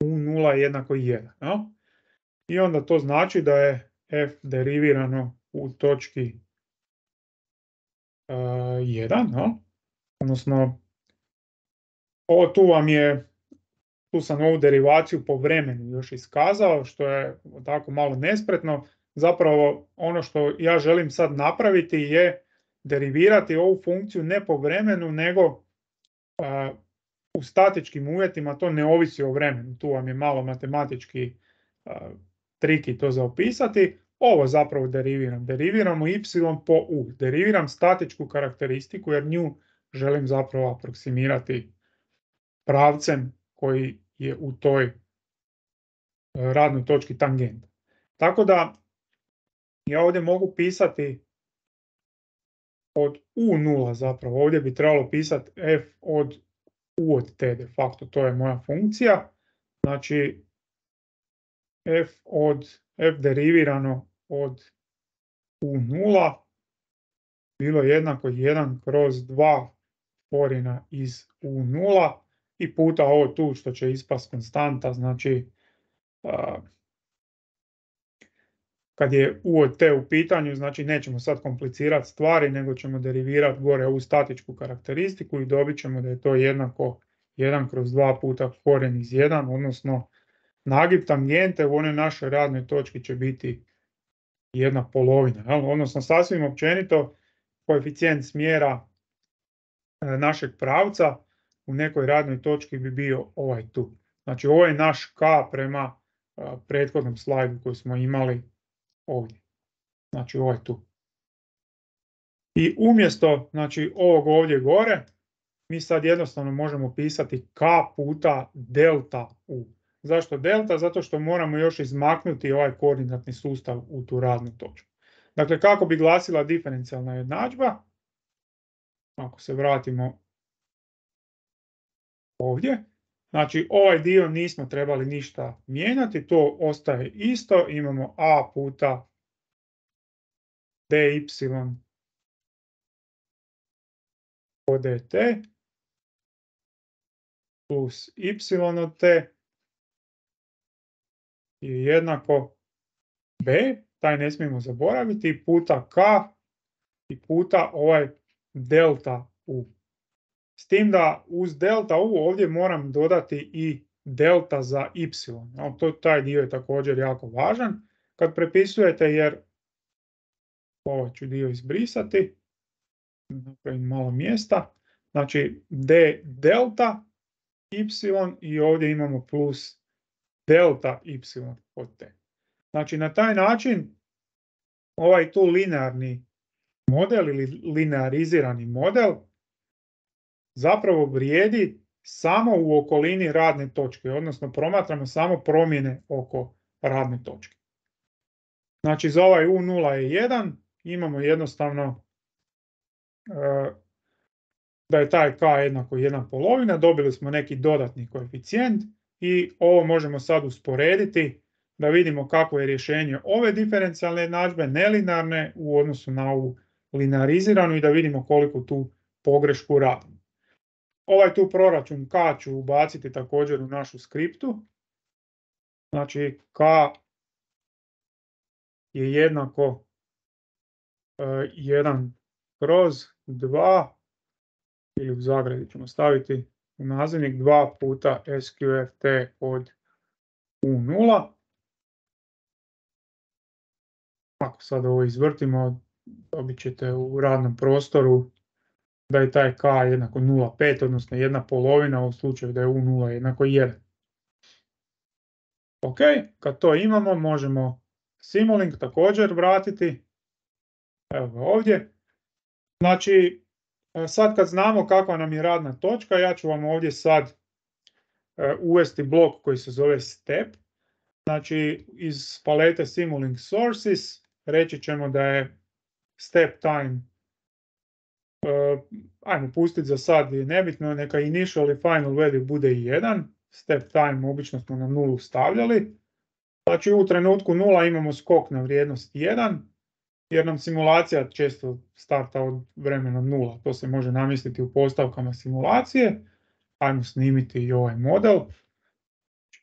u nula jednako jedan. No? I onda to znači da je f derivirano u točki uh, jedan, no? Odnosno, ovo tu vam je, tu sam ovu derivaciju po vremenu još iskazao, što je tako malo nespretno. Zapravo ono što ja želim sad napraviti je derivirati ovu funkciju ne po vremenu, nego uh, u statičkim uvjetima, to ne ovisi o vremenu. Tu vam je malo matematički uh, triki to za opisati. Ovo zapravo deriviram. Deriviramo y po u. Deriviram statičku karakteristiku jer nju želim zapravo aproksimirati pravcem koji je u toj radnoj točki tangenta. Tako da ja ovdje mogu pisati od u nula zapravo. Ovdje bi trebalo pisati f od u od t de facto. To je moja funkcija. Znači f od f derivirano od u nula bilo jednako jedan kroz dva korijena iz u nula i puta ovo tu što će ispast konstanta, znači uh, kad je u od t u pitanju, znači nećemo sad komplicirati stvari, nego ćemo derivirati gore ovu statičku karakteristiku i dobit ćemo da je to jednako jedan kroz dva puta korijen iz jedan, odnosno nagib tangente u onoj našoj radnoj točki će biti jedna polovina, odnosno sasvim općenito koeficijent smjera našeg pravca u nekoj radnoj točki bi bio ovaj tu. Znači ovo je naš k prema prethodnom slajdu koji smo imali ovdje. Znači ovaj tu. I umjesto znači, ovog ovdje gore, mi sad jednostavno možemo pisati k puta delta u. Zašto delta? Zato što moramo još izmaknuti ovaj koordinatni sustav u tu radnu točku. Dakle, kako bi glasila diferencijalna jednadžba? Ako se vratimo ovdje. Znači, ovaj dio nismo trebali ništa mijenjati, to ostaje isto. Imamo a puta dy od dt plus y od t je jednako b, taj ne smijemo zaboraviti, puta k i puta ovaj delta u. S tim da uz delta u ovdje moram dodati i delta za y. No, to, taj dio je također jako važan. Kad prepisujete, jer ovaj ću dio izbrisati, napravim malo mjesta, znači d delta y i ovdje imamo plus delta y od t. Znači na taj način ovaj tu linearni model ili linearizirani model zapravo vrijedi samo u okolini radne točke, odnosno promatramo samo promjene oko radne točke. Znači za ovaj u nula je jedan, imamo jednostavno e, da je taj k jednako jedna polovina, dobili smo neki dodatni koeficijent i ovo možemo sad usporediti da vidimo kako je rješenje ove diferencijalne jednadžbe nelinearne u odnosu na ovu lineariziranu i da vidimo koliko tu pogrešku radimo. Ovaj tu proračun k ću ubaciti također u našu skriptu. Znači k je jednako uh, jedan kroz dva ili u zagradi ćemo staviti u nazivnik dva puta S Q F T od U nula. Ako sad ovo izvrtimo, dobit ćete u radnom prostoru da je taj k jednako nula zarez pet, odnosno jedna polovina u slučaju da je U nula jednako jedan. Ok, kad to imamo možemo Simulink također vratiti. Evo ga ovdje. Znači, sad kad znamo kakva nam je radna točka, ja ću vam ovdje sad uvesti blok koji se zove step. Znači, iz palete Simulink Sources reći ćemo da je step time, uh, ajmo pustiti za sad, je nebitno, neka initial i final value bude jedan. Step time obično smo na nulu stavljali. Znači u trenutku nula imamo skok na vrijednost jedan, jer nam simulacija često starta od vremena nula. To se može namjestiti u postavkama simulacije. Ajmo snimiti i ovaj model.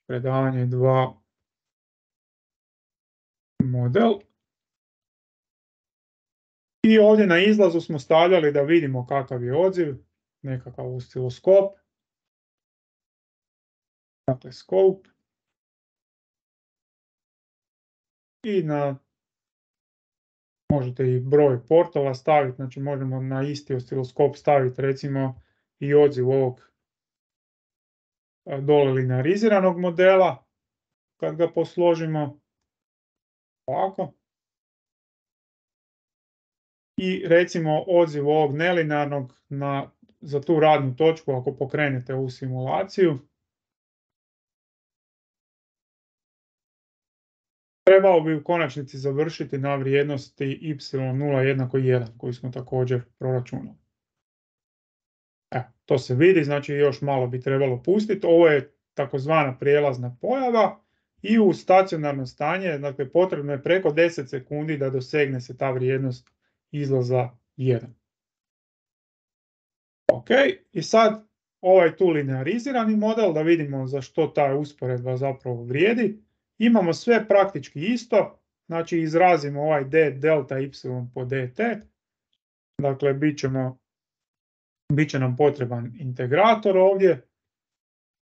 Predavanje dva model. I ovdje na izlazu smo stavljali da vidimo kakav je odziv, nekakav osciloskop. Dakle, scope. I na, možete i broj portova staviti, znači možemo na isti osciloskop staviti recimo i odziv ovog dole lineariziranog modela, kad ga posložimo ovako. I recimo odziv ovog nelinearnog na, za tu radnu točku ako pokrenete ovu simulaciju. Trebao bi u konačnici završiti na vrijednosti y nula jednako jedan koju smo također proračunali. Evo, to se vidi, znači još malo bi trebalo pustiti. Ovo je takozvana prijelazna pojava i u stacionarno stanje, dakle potrebno je preko deset sekundi da dosegne se ta vrijednost izlaza jedan. Ok, i sad ovaj tu linearizirani model, da vidimo za što ta usporedba zapravo vrijedi. Imamo sve praktički isto, znači izrazimo ovaj d delta y po dt, dakle bit ćemo, bit će nam potreban integrator ovdje,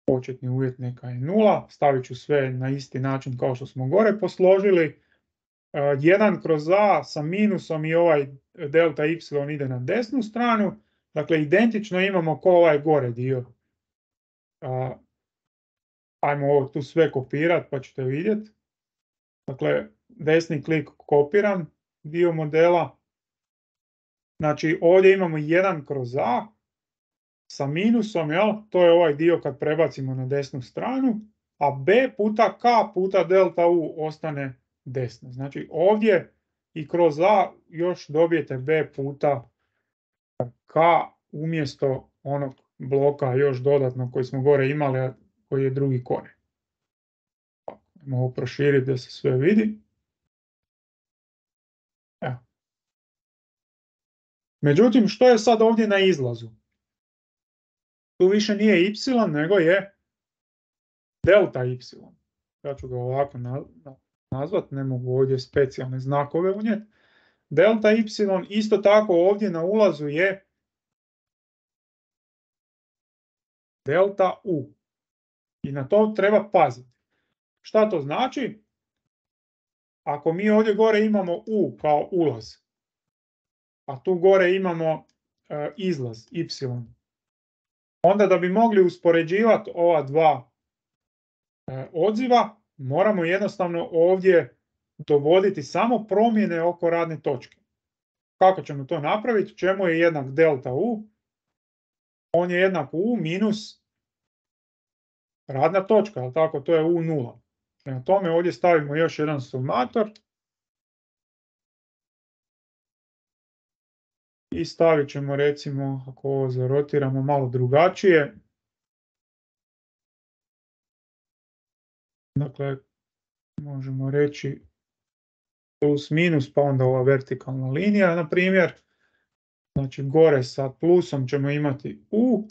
početni uvjet neka je nula, stavit ću sve na isti način kao što smo gore posložili, jedan kroz a sa minusom i ovaj delta y ide na desnu stranu, dakle identično imamo ko ovaj gore dio. Ajmo ovo tu sve kopirati pa ćete vidjeti. Dakle, desni klik kopiram dio modela. Znači ovdje imamo jedan kroz a sa minusom, jel? To je ovaj dio kad prebacimo na desnu stranu, a b puta k puta delta u ostane desno. Znači ovdje i kroz a još dobijete b puta k umjesto onog bloka još dodatno koji smo gore imali, koji je drugi korijen. Mogu proširiti da se sve vidi. Evo. Međutim, što je sad ovdje na izlazu? Tu više nije y, nego je delta y. Ja ću ga ovako nazvat, ne mogu ovdje specijalne znakove unijeti. Delta y isto tako ovdje na ulazu je delta u. I na to treba paziti. Šta to znači? Ako mi ovdje gore imamo u kao ulaz, a tu gore imamo e, izlaz y. Onda da bi mogli uspoređivati ova dva e, odziva, moramo jednostavno ovdje dovoditi samo promjene oko radne točke. Kako ćemo to napraviti? Čemu je jednak delta U? On je jednak U minus radna točka, ali tako, to je U nula. Prema tome ovdje stavimo još jedan sumator i stavit ćemo, recimo, ako ovo zarotiramo malo drugačije, dakle, možemo reći plus minus, pa onda ova vertikalna linija, na primjer. Znači, gore sa plusom ćemo imati U,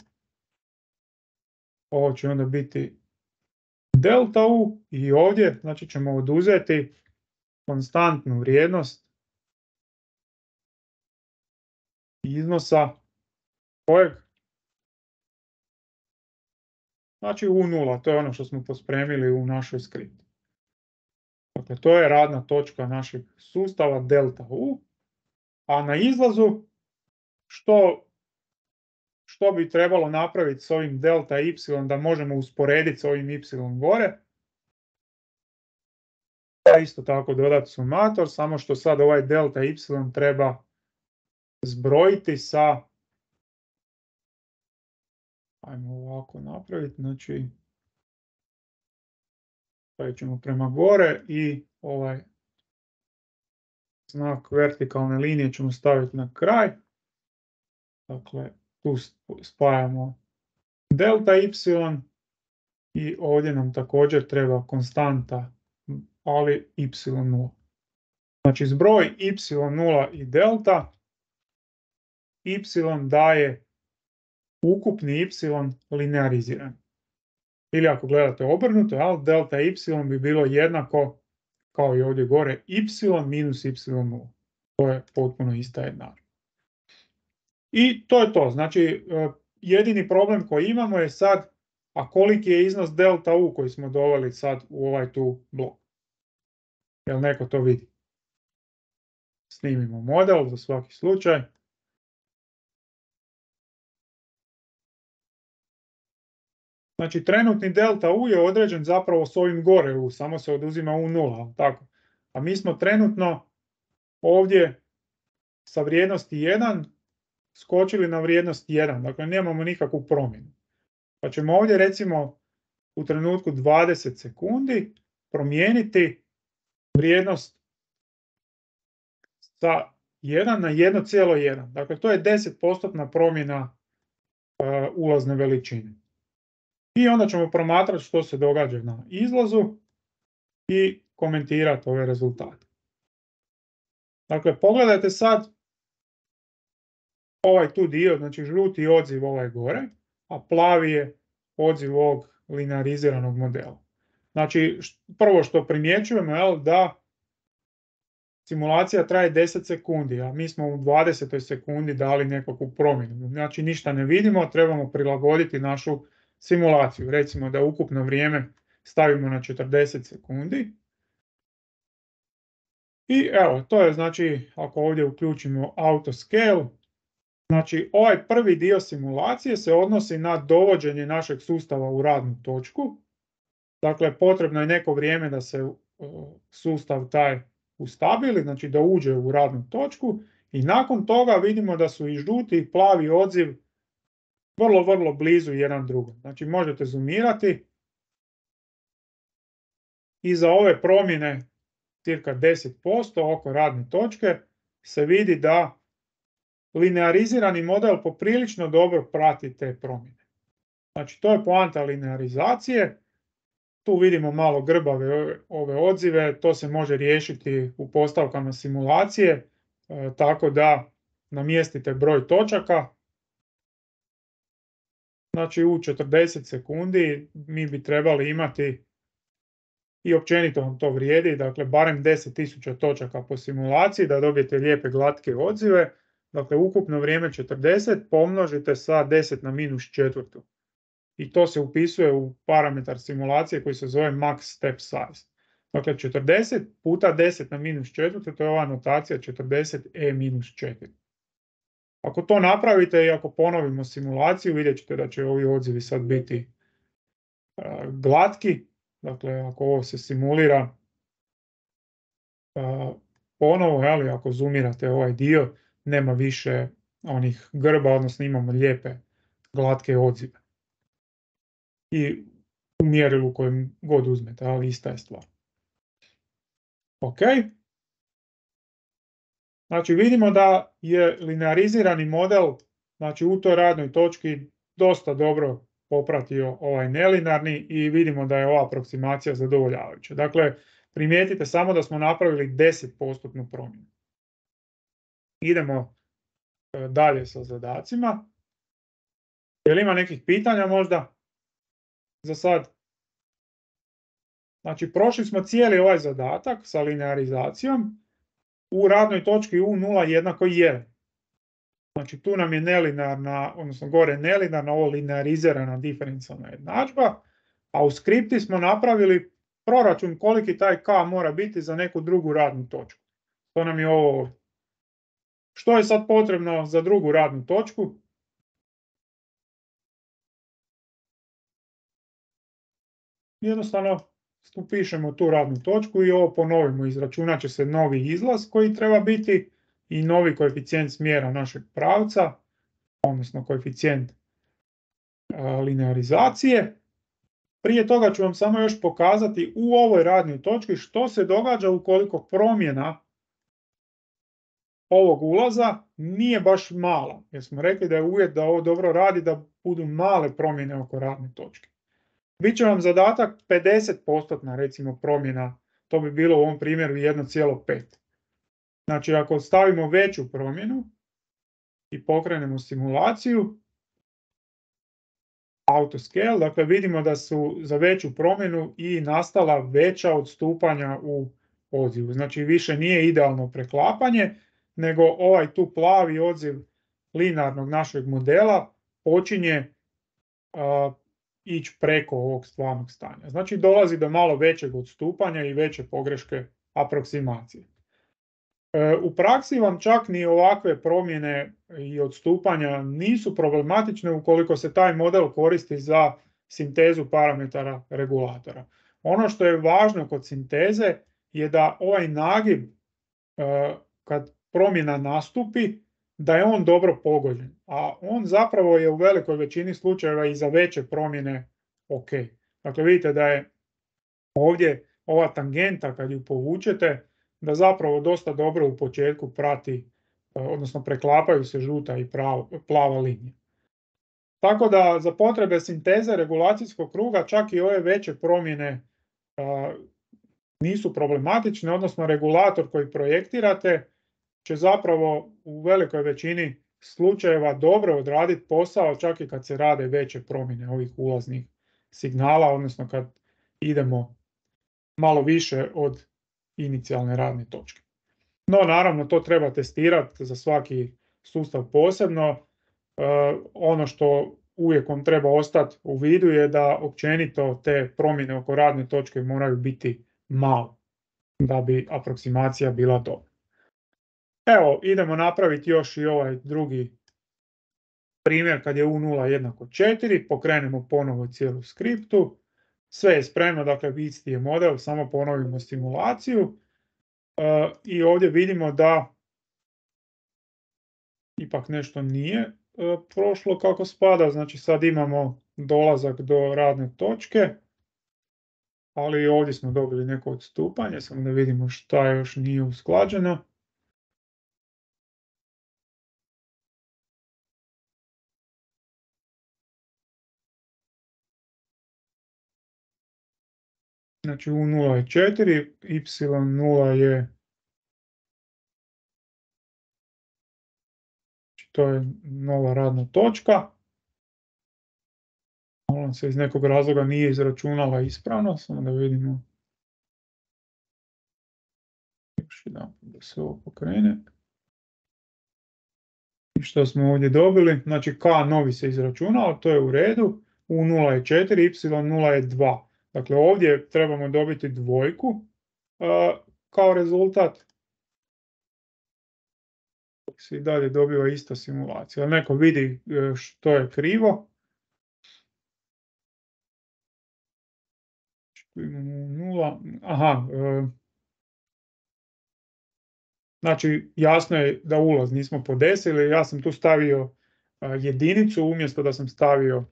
ovo će onda biti delta U i ovdje, znači, ćemo oduzeti konstantnu vrijednost iznosa kojeg? Znači U nula, to je ono što smo pospremili u našoj skripti. Dakle, to je radna točka našeg sustava delta U, a na izlazu što, što bi trebalo napraviti s ovim delta y da možemo usporediti s ovim y gore? Isto tako dodati sumator, samo što sad ovaj delta y treba zbrojiti sa, ajmo ovako napraviti, znači stavit ćemo prema gore i ovaj znak vertikalne linije ćemo staviti na kraj. Dakle, tu spajamo delta y i ovdje nam također treba konstanta, ali y nula. Znači zbroj y nula i delta, y daje ukupni y lineariziran. Ili ako gledate obrnuto, ali delta y bi bilo jednako kao i ovdje gore y minus y nula. To je potpuno ista jednadžba. I to je to. Znači, jedini problem koji imamo je sad, a koliki je iznos delta U koji smo doveli sad u ovaj tu blok. Jel neko to vidi? Snimimo model za svaki slučaj. Znači, trenutni delta U je određen zapravo s ovim gore U, samo se oduzima U nula, tako. A mi smo trenutno ovdje sa vrijednosti jedan skočili na vrijednost jedan, dakle nemamo nikakvu promjenu. Pa ćemo ovdje recimo u trenutku dvadeset sekundi promijeniti vrijednost sa jedan na jedan zarez jedan. Dakle, to je deset postotna promjena uh, ulazne veličine. I onda ćemo promatrati što se događa na izlazu i komentirati ove rezultate. Dakle, pogledajte sad ovaj tu dio, znači žuti odziv ovaj gore, a plavi je odziv ovog lineariziranog modela. Znači, prvo što primjećujemo je da simulacija traje deset sekundi, a mi smo u dvadesetoj sekundi dali nekakvu promjenu. Znači, ništa ne vidimo, trebamo prilagoditi našu simulaciju. Recimo da ukupno vrijeme stavimo na četrdeset sekundi. I evo, to je znači, ako ovdje uključimo auto scale, znači ovaj prvi dio simulacije se odnosi na dovođenje našeg sustava u radnu točku. Dakle, potrebno je neko vrijeme da se sustav taj ustabili, znači da uđe u radnu točku i nakon toga vidimo da su i žuti i plavi odziv vrlo, vrlo blizu jedan drugom. Znači možete zoomirati i za ove promjene cirka deset posto oko radne točke se vidi da linearizirani model poprilično dobro prati te promjene. Znači to je poanta linearizacije. Tu vidimo malo grbave ove, ove odzive, to se može riješiti u postavkama simulacije, e, tako da namjestite broj točaka. Znači u četrdeset sekundi mi bi trebali imati, i općenito vam to vrijedi, dakle barem deset tisuća točaka po simulaciji da dobijete lijepe glatke odzive. Dakle, ukupno vrijeme četrdeset pomnožite sa deset na minus četvrtu. I to se upisuje u parametar simulacije koji se zove max step size. Dakle, četrdeset puta deset na minus četvrtu, to je ova notacija četrdeset e minus četiri. Ako to napravite i ako ponovimo simulaciju, vidjet ćete da će ovi odzivi sad biti uh, glatki. Dakle, ako ovo se simulira uh, ponovo, ali ako zoomirate ovaj dio, nema više onih grba, odnosno imamo lijepe glatke odzive. I u mjerilu kojem god uzmete, ali ista je stvar. Ok. Znači vidimo da je linearizirani model, znači u toj radnoj točki dosta dobro popratio ovaj nelinarni i vidimo da je ova aproksimacija zadovoljavajuća. Dakle, primijetite samo da smo napravili deset posto promjenu. Idemo dalje sa zadacima. Je li ima nekih pitanja možda za sad? Znači, prošli smo cijeli ovaj zadatak sa linearizacijom u radnoj točki U nula jednako jedan. Znači, tu nam je nelinarna, odnosno gore nelinarna, ovo linearizirana diferencijalna jednadžba, a u skripti smo napravili proračun koliki taj k mora biti za neku drugu radnu točku. To nam je ovo. Što je sad potrebno za drugu radnu točku? Jednostavno upišemo tu radnu točku i ovo ponovimo. Izračunat će se novi izlaz koji treba biti i novi koeficijent smjera našeg pravca, odnosno koeficijent linearizacije. Prije toga ću vam samo još pokazati u ovoj radnoj točki što se događa ukoliko promjena ovog ulaza nije baš mala. Jer smo rekli da je uvjet da ovo dobro radi da budu male promjene oko radne točke. Biće vam zadatak pedeset posto recimo promjena, to bi bilo u ovom primjeru jedan zarez pet. Znači ako stavimo veću promjenu i pokrenemo simulaciju, autoscale, dakle vidimo da su za veću promjenu i nastala veća odstupanja u odzivu. Znači više nije idealno preklapanje, nego ovaj tu plavi odziv linearnog našeg modela počinje uh, ići preko ovog stvarnog stanja. Znači dolazi do malo većeg odstupanja i veće pogreške aproksimacije. E, u praksi vam čak ni ovakve promjene i odstupanja nisu problematične ukoliko se taj model koristi za sintezu parametara regulatora. Ono što je važno kod sinteze je da ovaj nagib e, kad promjena nastupi, da je on dobro pogođen, a on zapravo je u velikoj većini slučajeva i za veće promjene ok. Dakle, vidite da je ovdje ova tangenta kad ju povučete, da zapravo dosta dobro u početku prati, odnosno preklapaju se žuta i prava, plava linija. Tako da za potrebe sinteze regulacijskog kruga čak i ove veće promjene a, nisu problematične, odnosno regulator koji projektirate će zapravo u velikoj većini slučajeva dobro odraditi posao čak i kad se rade veće promjene ovih ulaznih signala, odnosno kad idemo malo više od inicijalne radne točke. No naravno to treba testirati za svaki sustav posebno. E, ono što uvijek vam treba ostati u vidu je da općenito te promjene oko radne točke moraju biti male da bi aproksimacija bila dobra. Evo, idemo napraviti još i ovaj drugi primjer kad je U nula jednako četiri, pokrenemo ponovo cijelu skriptu, sve je spremno, dakle isti je model, samo ponovimo simulaciju e, i ovdje vidimo da ipak nešto nije e, prošlo kako spada, znači sad imamo dolazak do radne točke, ali ovdje smo dobili neko odstupanje, samo da vidimo šta još nije usklađeno. Znači U nula je četiri, Y nula je, to je nova radna točka. Ona se iz nekog razloga nije izračunala ispravno, samo da vidimo. Još jedan da se ovo pokrene. I što smo ovdje dobili? Znači K novi se izračunao, to je u redu. U nula je četiri, Y nula je dva. Dakle, ovdje trebamo dobiti dvojku uh, kao rezultat. se i dalje dobiva ista simulacija. Ali neko vidi što je krivo. Tu imamo nula. Aha. Znači, jasno je da ulaz nismo podesili. Ja sam tu stavio jedinicu umjesto da sam stavio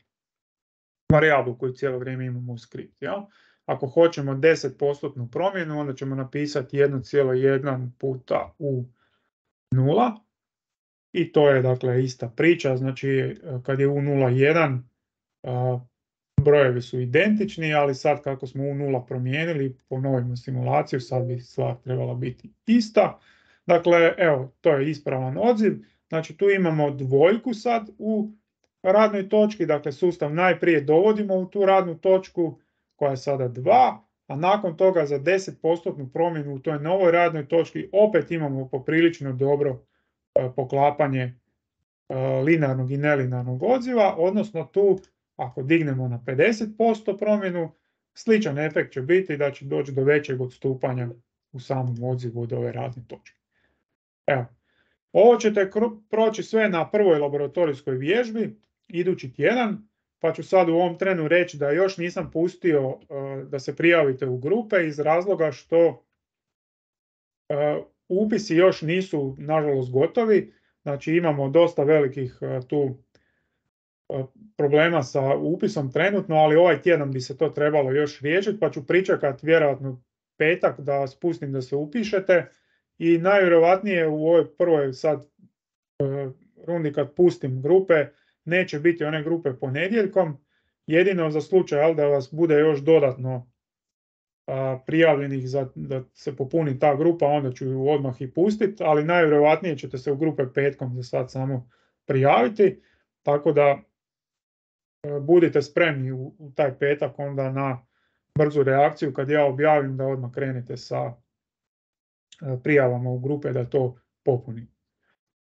varijablu koju cijelo vrijeme imamo u skript. Ja? Ako hoćemo deset posto promjenu, onda ćemo napisati jedan zarez jedan puta u nula. I to je dakle ista priča. Znači, kad je u nula jedan, brojevi su identični, ali sad kako smo u nula promijenili, ponovimo simulaciju, sad bi stvar trebala biti ista. Dakle, evo, to je ispravan odziv. Znači, tu imamo dvojku sad u radnoj točki, dakle sustav najprije dovodimo u tu radnu točku koja je sada dva, a nakon toga za deset posto promjenu u toj novoj radnoj točki opet imamo poprilično dobro e, poklapanje e, linearnog i nelinearnog odziva, odnosno tu ako dignemo na pedeset posto promjenu, sličan efekt će biti da će doći do većeg odstupanja u samom odzivu od ove radne točke. Evo, ovo ćete proći sve na prvoj laboratorijskoj vježbi, idući tjedan, pa ću sad u ovom trenu reći da još nisam pustio uh, da se prijavite u grupe iz razloga što uh, upisi još nisu nažalost gotovi, znači imamo dosta velikih uh, tu uh, problema sa upisom trenutno, ali ovaj tjedan bi se to trebalo još riješiti, pa ću pričekati vjerojatno petak da vas pustim da se upišete i najvjerojatnije u ovoj prvoj sad uh, rundi kad pustim grupe, neće biti one grupe ponedjeljkom, jedino za slučaj ali da vas bude još dodatno a, prijavljenih za da se popuni ta grupa, onda ću ju odmah i pustiti, ali najvjerojatnije ćete se u grupe petkom za sad samo prijaviti, tako da a, budite spremni u, u taj petak onda na brzu reakciju kad ja objavim da odmah krenete sa a, prijavama u grupe da to popuni.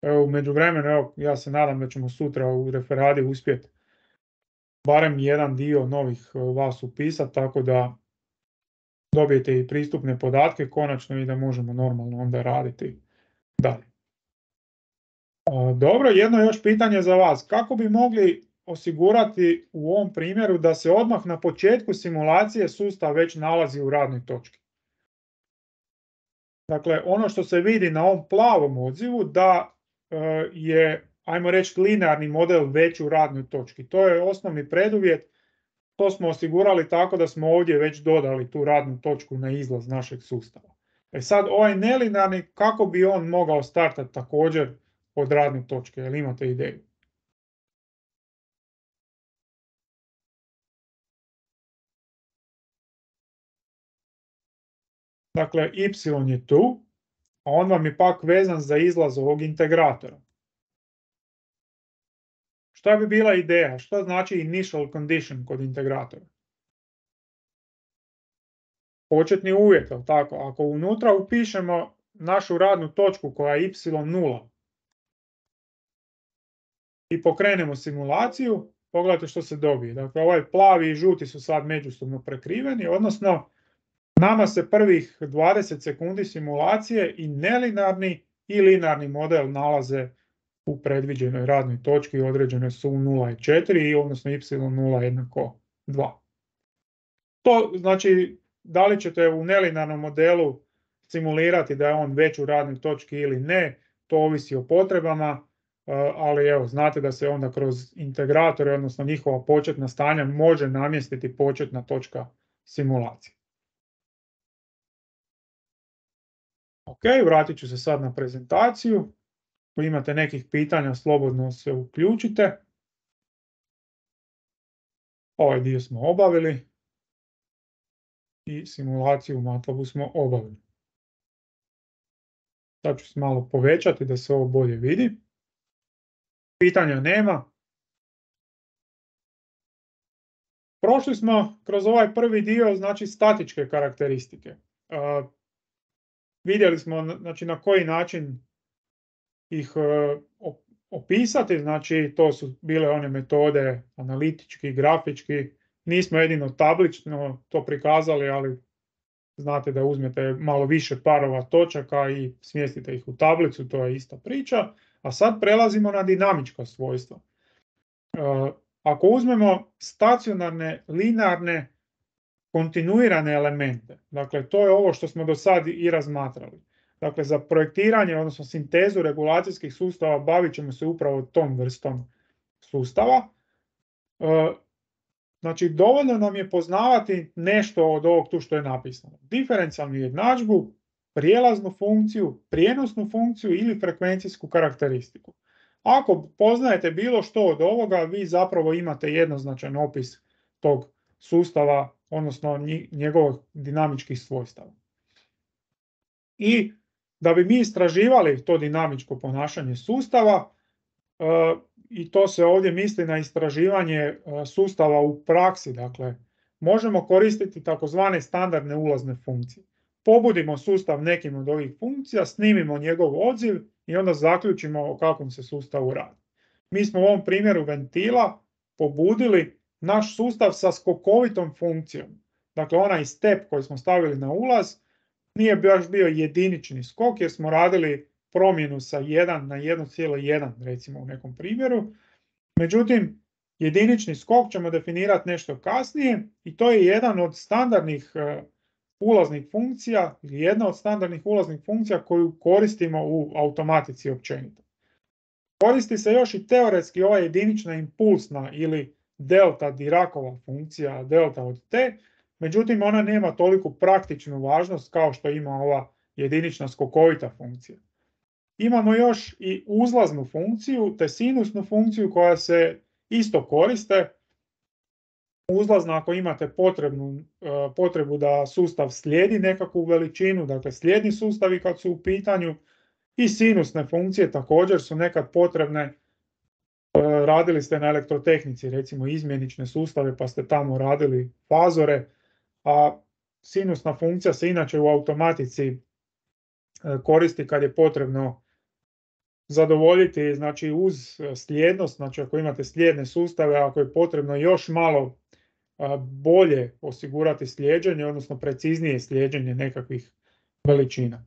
Evo, u međuvremenu, evo, ja se nadam da ćemo sutra u referadi uspjeti barem jedan dio novih vas upisati, tako da dobijete i pristupne podatke konačno i da možemo normalno onda raditi dalje. Dobro, jedno još pitanje za vas. Kako bi mogli osigurati u ovom primjeru da se odmah na početku simulacije sustav već nalazi u radnoj točki? Dakle, ono što se vidi na ovom plavom odzivu da je, ajmo reći, linearni model već u radnoj točki. To je osnovni preduvjet. To smo osigurali tako da smo ovdje već dodali tu radnu točku na izlaz našeg sustava. E sad, ovaj nelinearni, kako bi on mogao startati također od radne točke? Jel imate ideju? Dakle, y je tu, a on vam je pak vezan za izlaz ovog integratora. Šta bi bila ideja? Šta znači initial condition kod integratora? Početni uvjet, tako? Ako unutra upišemo našu radnu točku koja je y nula i pokrenemo simulaciju, pogledajte što se dobije. Dakle, ovaj plavi i žuti su sad međusobno prekriveni, odnosno nama se prvih dvadeset sekundi simulacije i nelinearni i linearni model nalaze u predviđenoj radnoj točki, određene su u nula i četiri, odnosno y nula jednako dva. To znači, da li ćete u nelinearnom modelu simulirati da je on već u radnoj točki ili ne, to ovisi o potrebama, ali evo, znate da se onda kroz integratore, odnosno njihova početna stanja, može namjestiti početna točka simulacije. Ok, vratit ću se sad na prezentaciju. Ako imate nekih pitanja, slobodno se uključite. Ovaj dio smo obavili i simulaciju u MATLABu smo obavili. Sad ću se malo povećati da se ovo bolje vidi. Pitanja nema. Prošli smo kroz ovaj prvi dio, znači statičke karakteristike. Uh, vidjeli smo znači, na koji način ih uh, opisati, znači to su bile one metode analitički, grafički, nismo jedino tablično to prikazali, ali znate da uzmete malo više parova točaka i smjestite ih u tablicu, to je ista priča. A sad prelazimo na dinamička svojstva. E, ako uzmemo stacionarne, linearne, kontinuirane elemente, dakle to je ovo što smo do sad i razmatrali. Dakle, za projektiranje, odnosno sintezu regulacijskih sustava bavit ćemo se upravo tom vrstom sustava. E, znači, dovoljno nam je poznavati nešto od ovog tu što je napisano. Diferencijalnu jednadžbu, prijelaznu funkciju, prijenosnu funkciju ili frekvencijsku karakteristiku. Ako poznajete bilo što od ovoga, vi zapravo imate jednoznačan opis tog sustava, odnosno njegovih dinamičkih svojstava. I da bi mi istraživali to dinamičko ponašanje sustava, i to se ovdje misli na istraživanje sustava u praksi, dakle, možemo koristiti takozvane standardne ulazne funkcije. Pobudimo sustav nekim od ovih funkcija, snimimo njegov odziv i onda zaključimo o kakvom se sustavu radi. Mi smo u ovom primjeru ventila pobudili naš sustav sa skokovitom funkcijom. Dakle, onaj step koji smo stavili na ulaz nije baš bio jedinični skok jer smo radili promjenu sa jedan na jedan zarez jedan recimo u nekom primjeru. Međutim, jedinični skok ćemo definirati nešto kasnije i to je jedan od standardnih uh, ulaznih funkcija ili jedna od standardnih ulaznih funkcija koju koristimo u automatici općenito. Koristi se još i teoretski ova jedinična impulsna ili delta Diracova funkcija, delta od t, međutim ona nema toliku praktičnu važnost kao što ima ova jedinična skokovita funkcija. Imamo još i uzlaznu funkciju te sinusnu funkciju koja se isto koriste. Uzlazna ako imate potrebnu, potrebu da sustav slijedi nekakvu veličinu, dakle slijedni sustavi kad su u pitanju, i sinusne funkcije također su nekad potrebne. Radili ste na elektrotehnici recimo izmjenične sustave pa ste tamo radili fazore, a sinusna funkcija se inače u automatici koristi kad je potrebno zadovoljiti, znači uz slijednost, znači ako imate slijedne sustave, ako je potrebno još malo bolje osigurati slijeđenje, odnosno preciznije slijeđenje nekakvih veličina.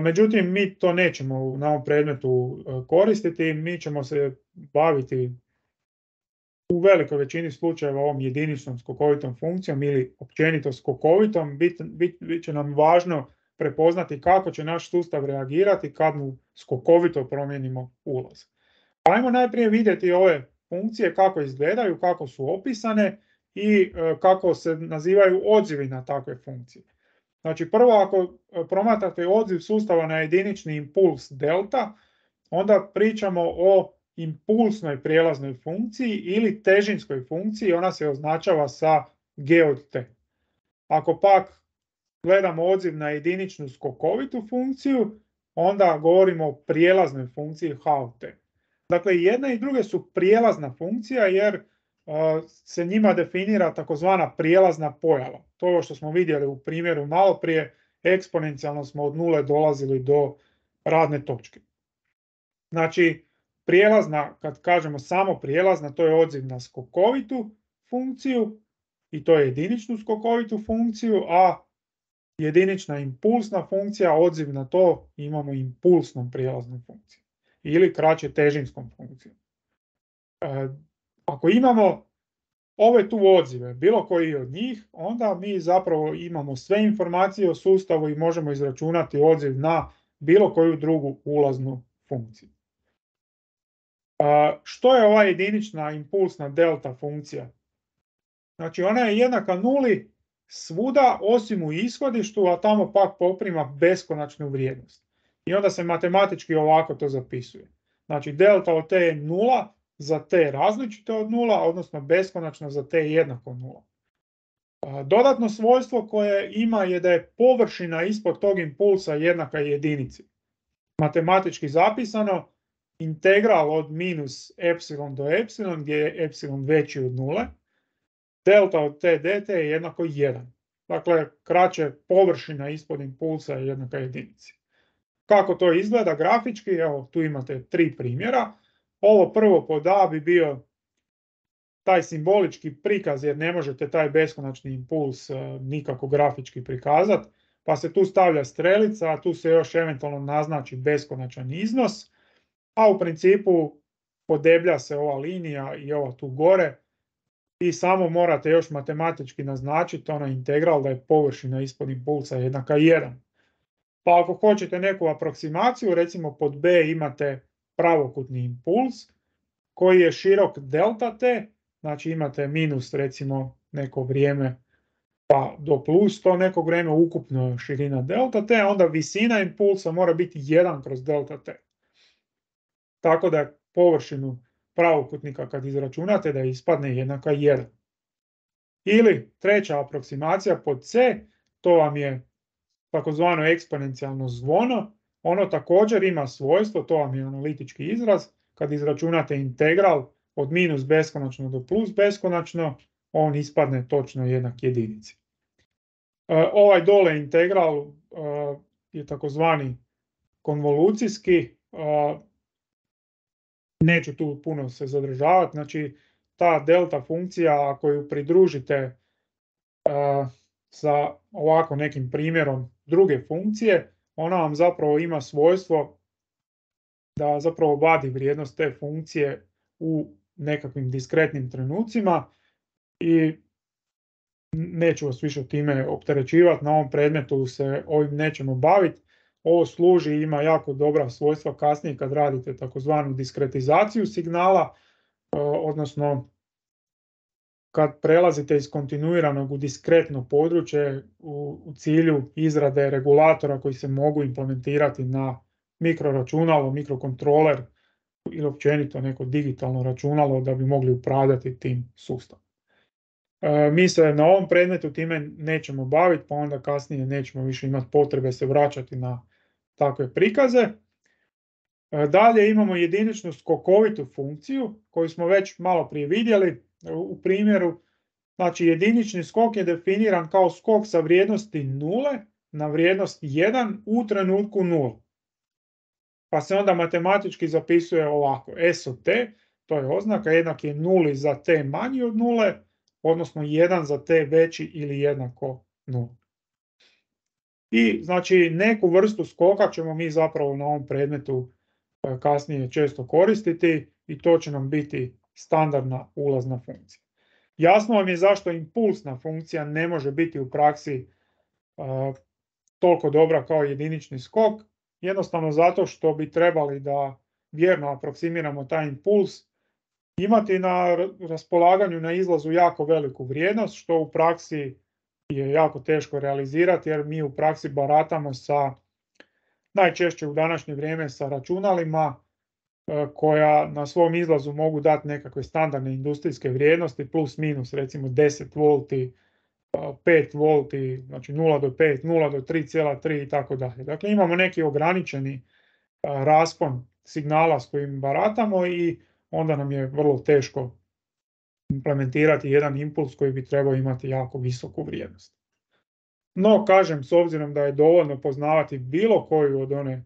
Međutim, mi to nećemo na ovom predmetu koristiti, mi ćemo se baviti u velikoj većini slučajeva ovom jediničnom skokovitom funkcijom ili općenito skokovitom. Bit, bit, bit će nam važno prepoznati kako će naš sustav reagirati kad mu skokovito promijenimo ulaz. Ajmo najprije vidjeti ove funkcije kako izgledaju, kako su opisane i kako se nazivaju odzivi na takve funkcije. Znači prvo ako promatrate odziv sustava na jedinični impuls delta, onda pričamo o impulsnoj prijelaznoj funkciji ili težinskoj funkciji, ona se označava sa G od T. Ako pak gledamo odziv na jediničnu skokovitu funkciju, onda govorimo o prijelaznoj funkciji H od T. Dakle, jedne i druge su prijelazna funkcija jer uh, se njima definira takozvana prijelazna pojava. To je ovo što smo vidjeli u primjeru malo prije, eksponencijalno smo od nule dolazili do radne točke. Znači, prijelazna, kad kažemo samo prijelazna, to je odziv na skokovitu funkciju i to je jediničnu skokovitu funkciju, a jedinična impulsna funkcija, odziv na to imamo impulsnom prijelaznom funkcijom ili kraće težinskom funkcijom. E, ako imamo ove tu odzive, bilo koji od njih, onda mi zapravo imamo sve informacije o sustavu i možemo izračunati odziv na bilo koju drugu ulaznu funkciju. E, što je ova jedinična impulsna delta funkcija? Znači ona je jednaka nuli svuda osim u ishodištu, a tamo pak poprima beskonačnu vrijednost. I onda se matematički ovako to zapisuje. Znači delta od t je nula za t različito od nula, odnosno beskonačno za t jednako nula. Dodatno svojstvo koje ima je da je površina ispod tog impulsa jednaka jedinici. Matematički zapisano, integral od minus epsilon do epsilon, gdje je epsilon veći od nule, delta od t dt je jednako jedan. Dakle, kraće površina ispod impulsa je jednaka jedinici. Kako to izgleda grafički? Evo, tu imate tri primjera. Ovo prvo pod A bi bio taj simbolički prikaz, jer ne možete taj beskonačni impuls nikako grafički prikazati, pa se tu stavlja strelica, a tu se još eventualno naznači beskonačan iznos. a u principu podeblja se ova linija i ova tu gore i samo morate još matematički naznačiti onaj integral da je površina ispod impulsa jednaka jedan. Pa ako hoćete neku aproksimaciju, recimo pod B imate pravokutni impuls koji je širok delta t, znači imate minus recimo neko vrijeme pa do plus to neko vrijeme, ukupno širina delta t, onda visina impulsa mora biti jedan kroz delta t. Tako da površinu pravokutnika kad izračunate da ispadne jednaka jedan. Ili treća aproksimacija pod C, to vam je takozvano eksponencijalno zvono, ono također ima svojstvo, to vam je analitički izraz, kad izračunate integral od minus beskonačno do plus beskonačno, on ispadne točno jednak jedinici. E, ovaj dole integral e, je takozvani konvolucijski, e, neću tu puno se zadržavati, znači ta delta funkcija ako ju pridružite uh, sa ovako nekim primjerom druge funkcije, ona vam zapravo ima svojstvo da zapravo vadi vrijednost te funkcije u nekakvim diskretnim trenucima i neću vas više time opterećivati, na ovom predmetu se ovim nećemo baviti. Ovo služi, ima jako dobra svojstva kasnije kad radite takozvanu diskretizaciju signala, odnosno kad prelazite iz kontinuiranog u diskretno područje u, u cilju izrade regulatora koji se mogu implementirati na mikroračunalo, mikrokontroler ili općenito neko digitalno računalo da bi mogli upravljati tim sustavom. E, mi se na ovom predmetu time nećemo baviti, pa onda kasnije nećemo više imati potrebe se vraćati na takve prikaze. E, dalje imamo jediničnu skokovitu funkciju koju smo već malo prije vidjeli u primjeru. Znači jedinični skok je definiran kao skok sa vrijednosti nule na vrijednost jedan u trenutku nula. Pa se onda matematički zapisuje ovako. S od t, to je oznaka, jednak je nuli za t manji od nule, odnosno jedan za t veći ili jednako nula. I znači neku vrstu skoka ćemo mi zapravo na ovom predmetu kasnije često koristiti i to će nam biti standardna ulazna funkcija. Jasno vam je zašto impulsna funkcija ne može biti u praksi uh, toliko dobra kao jedinični skok, jednostavno zato što bi trebali da vjerno aproksimiramo taj impuls, imati na raspolaganju na izlazu jako veliku vrijednost, što u praksi je jako teško realizirati jer mi u praksi baratamo sa, najčešće u današnje vrijeme sa računalima koja na svom izlazu mogu dati nekakve standardne industrijske vrijednosti plus minus recimo deset volti, pet volti, znači nula do pet, nula do tri zarez tri i tako dalje. Dakle imamo neki ograničeni raspon signala s kojim baratamo i onda nam je vrlo teško implementirati jedan impuls koji bi trebao imati jako visoku vrijednost. No, kažem, s obzirom da je dovoljno poznavati bilo koju od one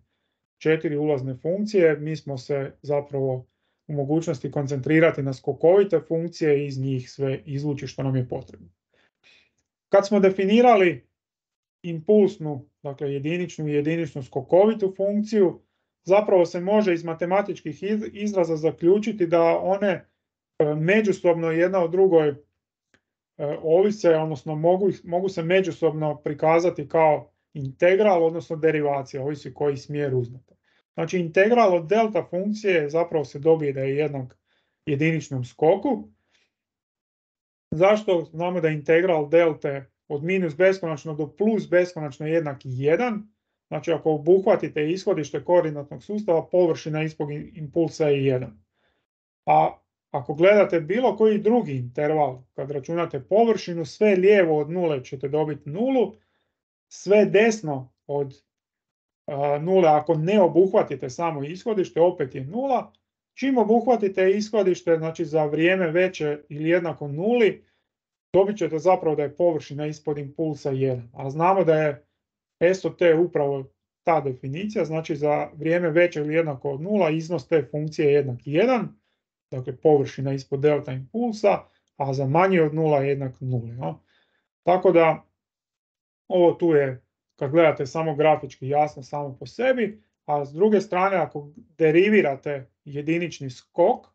četiri ulazne funkcije, mi smo se zapravo u mogućnosti koncentrirati na skokovite funkcije i iz njih sve izvući što nam je potrebno. Kad smo definirali impulsnu, dakle jediničnu i jediničnu skokovitu funkciju, zapravo se može iz matematičkih izraza zaključiti da one međusobno jedna od drugoj ovise, odnosno mogu, mogu se međusobno prikazati kao integral, odnosno derivacija, ovisi koji smjer uzmete. Znači integral od delta funkcije zapravo se dobije da je jednak jediničnom skoku. Zašto? Znamo da je integral delte od minus beskonačno do plus beskonačno jednak jedan. Znači ako obuhvatite ishodište koordinatnog sustava, površina ispod impulsa je jedan. A ako gledate bilo koji drugi interval, kad računate površinu, sve lijevo od nule ćete dobiti nulu, sve desno od uh, nule, ako ne obuhvatite samo ishodište, opet je nula. Čim obuhvatite ishodište, znači za vrijeme veće ili jednako nuli, dobit ćete zapravo da je površina ispod impulsa jedan. A znamo da je S od t upravo ta definicija, znači za vrijeme veće ili jednako od nula, iznos te funkcije je jednak jedan. Dakle površina ispod delta impulsa, a za manje od nula je jednak nuli. No? Tako da ovo tu je, kad gledate samo grafički jasno samo po sebi, a s druge strane ako derivirate jedinični skok,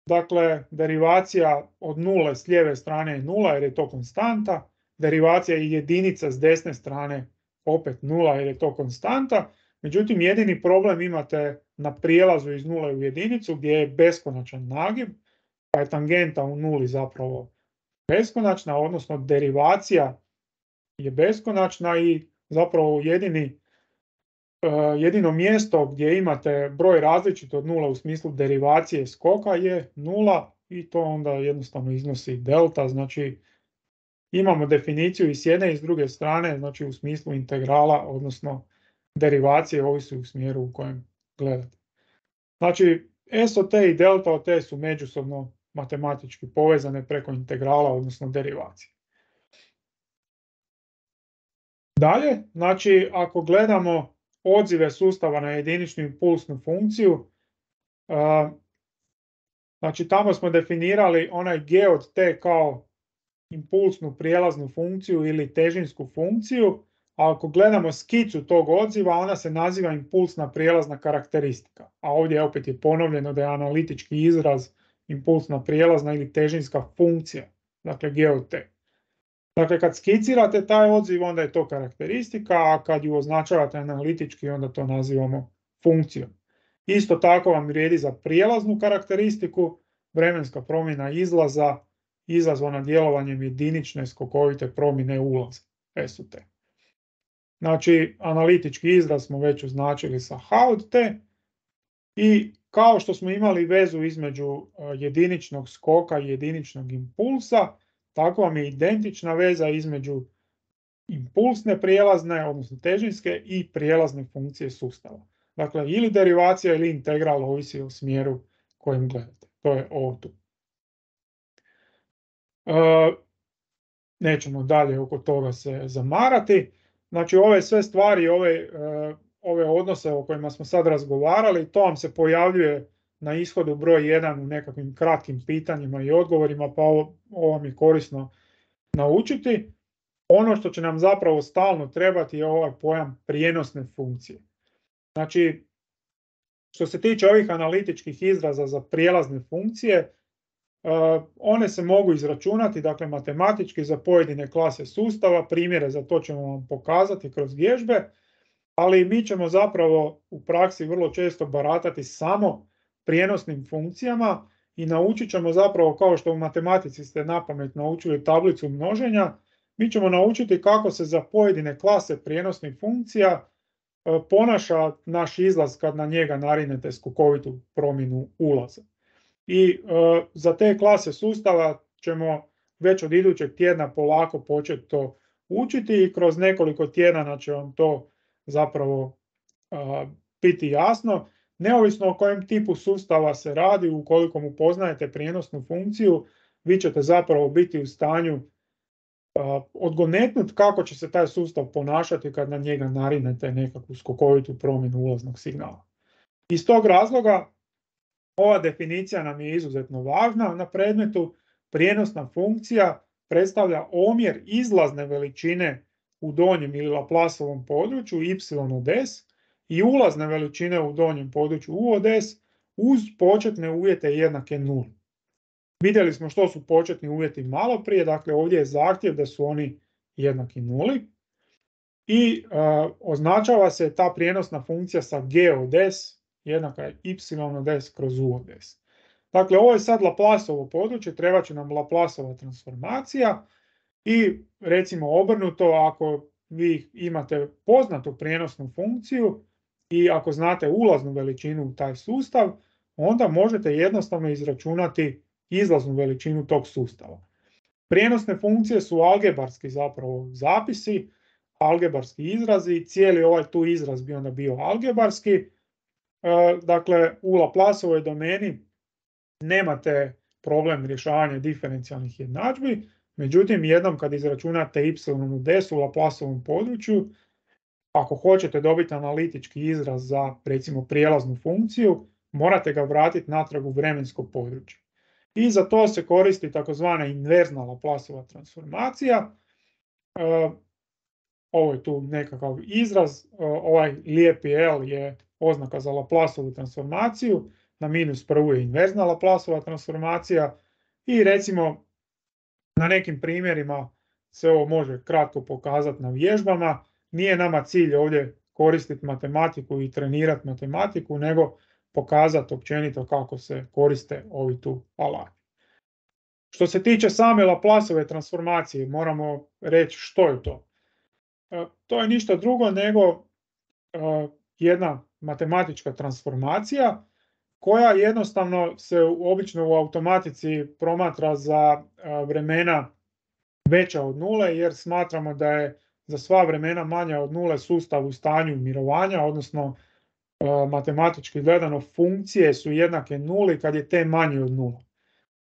dakle derivacija od nule s lijeve strane je nula jer je to konstanta, derivacija i jedinica s desne strane opet nula jer je to konstanta, međutim jedini problem imate na prijelazu iz nule u jedinicu gdje je beskonačan nagib, pa je tangenta u nuli zapravo beskonačna, odnosno derivacija je beskonačna i zapravo jedini, uh, jedino mjesto gdje imate broj različit od nula u smislu derivacije skoka je nula i to onda jednostavno iznosi delta, znači imamo definiciju i s jedne i s druge strane, znači u smislu integrala, odnosno derivacije ovisi u smjeru u kojem gledate. Znači S od t i delta od t su međusobno matematički povezane preko integrala, odnosno derivacije. Dalje, znači ako gledamo odzive sustava na jediničnu impulsnu funkciju, uh, znači tamo smo definirali onaj g od t kao impulsnu prijelaznu funkciju ili težinsku funkciju, a ako gledamo skicu tog odziva, ona se naziva impulsna prijelazna karakteristika. A ovdje opet je ponovljeno da je analitički izraz impulsna prijelazna ili težinska funkcija, dakle g od t. Dakle, kad skicirate taj odziv, onda je to karakteristika, a kad ju označavate analitički, onda to nazivamo funkcijom. Isto tako vam vrijedi za prijelaznu karakteristiku, vremenska promjena izlaza izazvana djelovanjem jedinične skokovite promjene ulaza, S od t. Znači, analitički izraz smo već označili sa h od t i kao što smo imali vezu između jediničnog skoka i jediničnog impulsa, tako vam je identična veza između impulsne prijelazne, odnosno težinske i prijelazne funkcije sustava. Dakle, ili derivacija ili integral ovisi o smjeru kojim gledate. To je ovo tu. E, nećemo dalje oko toga se zamarati. Znači, ove sve stvari, ove, e, ove odnose o kojima smo sad razgovarali, to vam se pojavljuje na ishodu broj jedan u nekakvim kratkim pitanjima i odgovorima, pa ovo, ovo vam je korisno naučiti. Ono što će nam zapravo stalno trebati je ovaj pojam prijenosne funkcije. Znači, što se tiče ovih analitičkih izraza za prijelazne funkcije, uh, one se mogu izračunati, dakle matematički za pojedine klase sustava, primjere za to ćemo vam pokazati kroz vježbe, ali mi ćemo zapravo u praksi vrlo često baratati samo prijenosnim funkcijama i naučit ćemo zapravo, kao što u matematici ste napamet naučili tablicu množenja, mi ćemo naučiti kako se za pojedine klase prijenosnih funkcija ponaša naš izlaz kad na njega narinete skokovitu promjenu ulaza. I e, za te klase sustava ćemo već od idućeg tjedna polako početi to učiti i kroz nekoliko tjedana će vam to zapravo e, biti jasno. Neovisno o kojem tipu sustava se radi, ukoliko mu poznajete prijenosnu funkciju, vi ćete zapravo biti u stanju uh, odgonetnuti kako će se taj sustav ponašati kad na njega narinete nekakvu skokovitu promjenu ulaznog signala. Iz tog razloga ova definicija nam je izuzetno važna na predmetu. Prijenosna funkcija predstavlja omjer izlazne veličine u donjem ili Laplaceovom području y od s i ulazne veličine u donjem području u od s uz početne uvjete jednake nuli. Vidjeli smo što su početni uvjeti malo prije, dakle ovdje je zahtjev da su oni jednaki nuli i uh, označava se ta prijenosna funkcija sa g od s jednaka je y od s kroz u od s. Dakle, ovo je sad Laplaceovo područje, treba će nam Laplaceova transformacija i recimo obrnuto, ako vi imate poznatu prijenosnu funkciju i ako znate ulaznu veličinu u taj sustav, onda možete jednostavno izračunati izlaznu veličinu tog sustava. Prijenosne funkcije su algebarski zapravo zapisi, algebarski izrazi, cijeli ovaj tu izraz bi onda bio algebarski. E, dakle, u Laplaceovoj domeni nemate problem rješavanja diferencijalnih jednadžbi, međutim jednom kad izračunate y od s u Laplaceovom području, ako hoćete dobiti analitički izraz za recimo prijelaznu funkciju, morate ga vratiti natrag u vremensko područje. I za to se koristi takozvana inverzna Laplaceova transformacija. ovo je tu nekakav izraz, ovaj lijepi L je oznaka za Laplaceovu transformaciju, na minus prvu je inverzna Laplaceova transformacija i recimo na nekim primjerima se ovo može kratko pokazati na vježbama. Nije nama cilj ovdje koristiti matematiku i trenirati matematiku, nego pokazati općenito kako se koriste ovi tu alati. Što se tiče same Laplaceove transformacije, moramo reći što je to. To je ništa drugo nego jedna matematička transformacija koja jednostavno se obično u automatici promatra za vremena veća od nule, jer smatramo da je za sva vremena manja od nule sustav u stanju mirovanja, odnosno matematički gledano funkcije su jednake nuli kad je t manje od nula.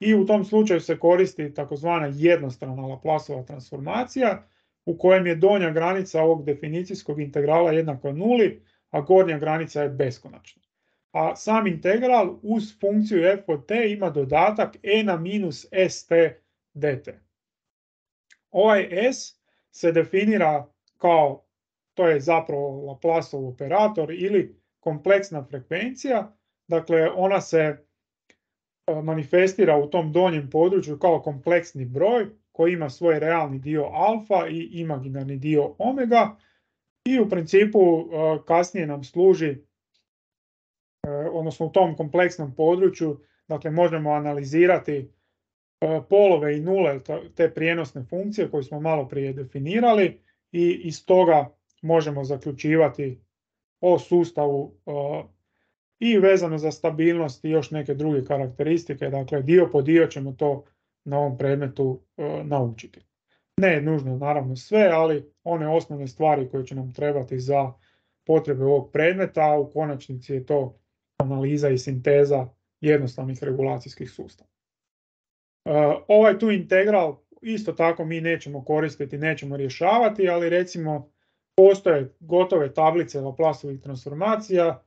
I u tom slučaju se koristi takozvana jednostrana Laplaceova transformacija u kojem je donja granica ovog definicijskog integrala jednaka nuli, a gornja granica je beskonačna. A sam integral uz funkciju f od t ima dodatak e na minus st dt. Ovaj s se definira kao, to je zapravo Laplaceov operator ili kompleksna frekvencija, dakle ona se manifestira u tom donjem području kao kompleksni broj koji ima svoj realni dio alfa i imaginarni dio omega i u principu kasnije nam služi, odnosno u tom kompleksnom području, dakle možemo analizirati polove i nule te prijenosne funkcije koje smo malo prije definirali i iz toga možemo zaključivati o sustavu i vezano za stabilnost i još neke druge karakteristike. Dakle, dio po dio ćemo to na ovom predmetu naučiti. Ne nužno naravno sve, ali one osnovne stvari koje će nam trebati za potrebe ovog predmeta, a u konačnici je to analiza i sinteza jednostavnih regulacijskih sustava. Ovaj tu integral isto tako mi nećemo koristiti, nećemo rješavati, ali recimo postoje gotove tablice Laplaceovih transformacija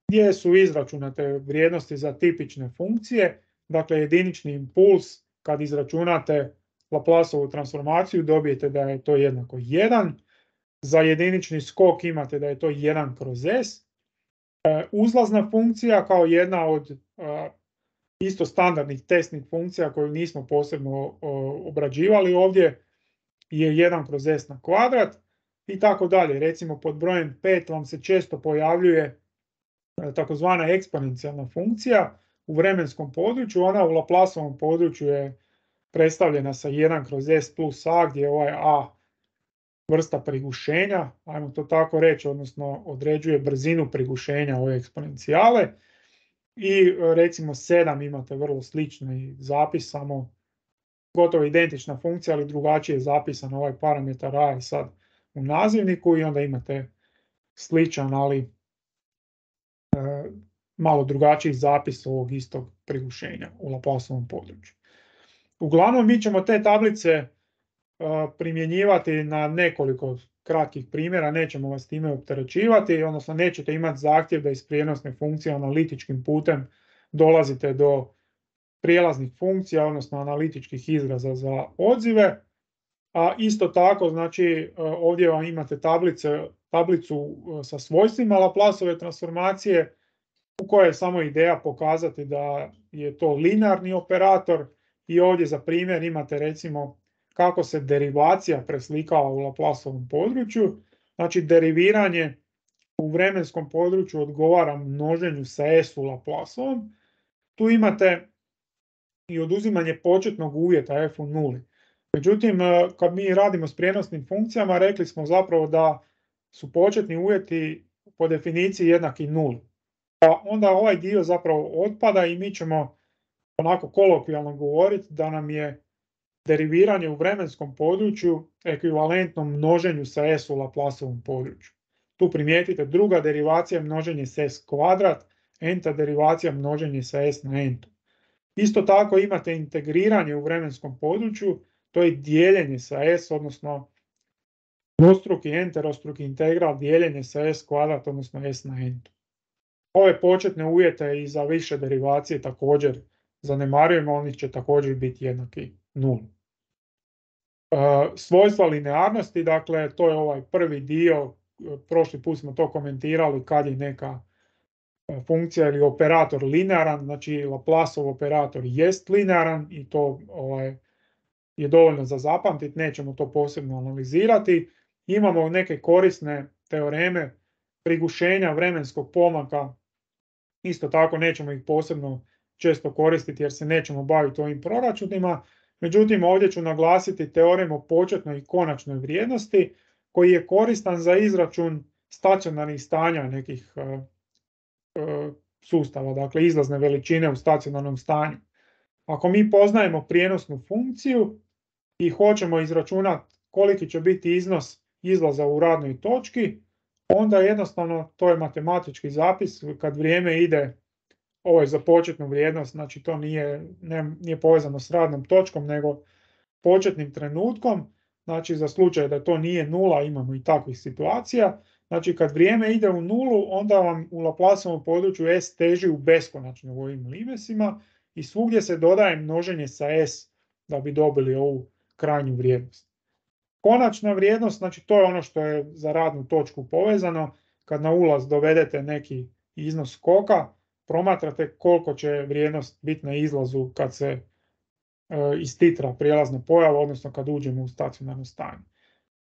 gdje su izračunate vrijednosti za tipične funkcije, dakle jedinični impuls kad izračunate Laplaceovu transformaciju dobijete da je to jednako jedan, za jedinični skok imate da je to jedan kroz s, uzlazna funkcija kao jedna od isto standardnih testnih funkcija koju nismo posebno obrađivali ovdje je jedan kroz s na kvadrat i tako dalje. Recimo pod brojem pet vam se često pojavljuje takozvana eksponencijalna funkcija u vremenskom području, ona u Laplaceovom području je predstavljena sa jedan kroz s plus a gdje je ovaj a vrsta prigušenja, ajmo to tako reći, odnosno određuje brzinu prigušenja ove eksponencijale. I recimo sedam imate vrlo slični zapis, samo gotovo identična funkcija, ali drugačije je zapisan ovaj parametar a je sad u nazivniku i onda imate sličan, ali e, malo drugačiji zapis ovog istog prigušenja u Laplaceovom području. Uglavnom mi ćemo te tablice e, primjenjivati na nekoliko kratkih primjera, nećemo vas time opterećivati, odnosno nećete imati zahtjev da iz prijenosne funkcije analitičkim putem dolazite do prijelaznih funkcija, odnosno analitičkih izraza za odzive. A isto tako, znači ovdje vam imate tablice, tablicu sa svojstvima Laplaceove transformacije u kojoj je samo ideja pokazati da je to linearni operator i ovdje za primjer imate recimo kako se derivacija preslikava u Laplaceovom području. Znači deriviranje u vremenskom području odgovara množenju sa s u Laplaceovom. Tu imate i oduzimanje početnog uvjeta f u nuli. Međutim, kad mi radimo s prijenosnim funkcijama, rekli smo zapravo da su početni uvjeti po definiciji jednaki nuli. Pa onda ovaj dio zapravo otpada i mi ćemo onako kolokvijalno govoriti da nam je deriviranje u vremenskom području ekvivalentno množenju sa s u Laplaceovom području. Tu primijetite druga derivacija množenje s s kvadrat, n-ta derivacija množenje sa s na n-tu. Isto tako imate integriranje u vremenskom području, to je dijeljenje sa s, odnosno dvostruki enterostruki integral dijeljenje sa s kvadrat, odnosno s na n-tu. Ove početne uvjete i za više derivacije također zanemarujemo, oni će također biti jednaki nuli. svojstva linearnosti, dakle to je ovaj prvi dio, prošli put smo to komentirali kad je neka funkcija ili operator linearan, znači Laplaceov operator jest linearan i to ovaj, je dovoljno za zapamtiti, nećemo to posebno analizirati. Imamo neke korisne teoreme prigušenja vremenskog pomaka, isto tako nećemo ih posebno često koristiti jer se nećemo baviti ovim proračunima. Međutim, ovdje ću naglasiti teorem o početnoj i konačnoj vrijednosti koji je koristan za izračun stacionarnih stanja nekih uh, uh, sustava, dakle izlazne veličine u stacionarnom stanju. Ako mi poznajemo prijenosnu funkciju i hoćemo izračunati koliki će biti iznos izlaza u radnoj točki, onda jednostavno to je matematički zapis kad vrijeme ide, ovo je za početnu vrijednost, znači to nije, ne, nije povezano s radnom točkom, nego početnim trenutkom, znači za slučaj da to nije nula, imamo i takvih situacija, znači kad vrijeme ide u nulu, onda vam u Laplaceovom području S teži u beskonačno u ovim limesima i svugdje se dodaje množenje sa S da bi dobili ovu krajnju vrijednost. Konačna vrijednost, znači to je ono što je za radnu točku povezano, kad na ulaz dovedete neki iznos skoka, promatrate koliko će vrijednost biti na izlazu kad se e, istitra prijelazna pojava, odnosno kad uđemo u stacionarno stanje.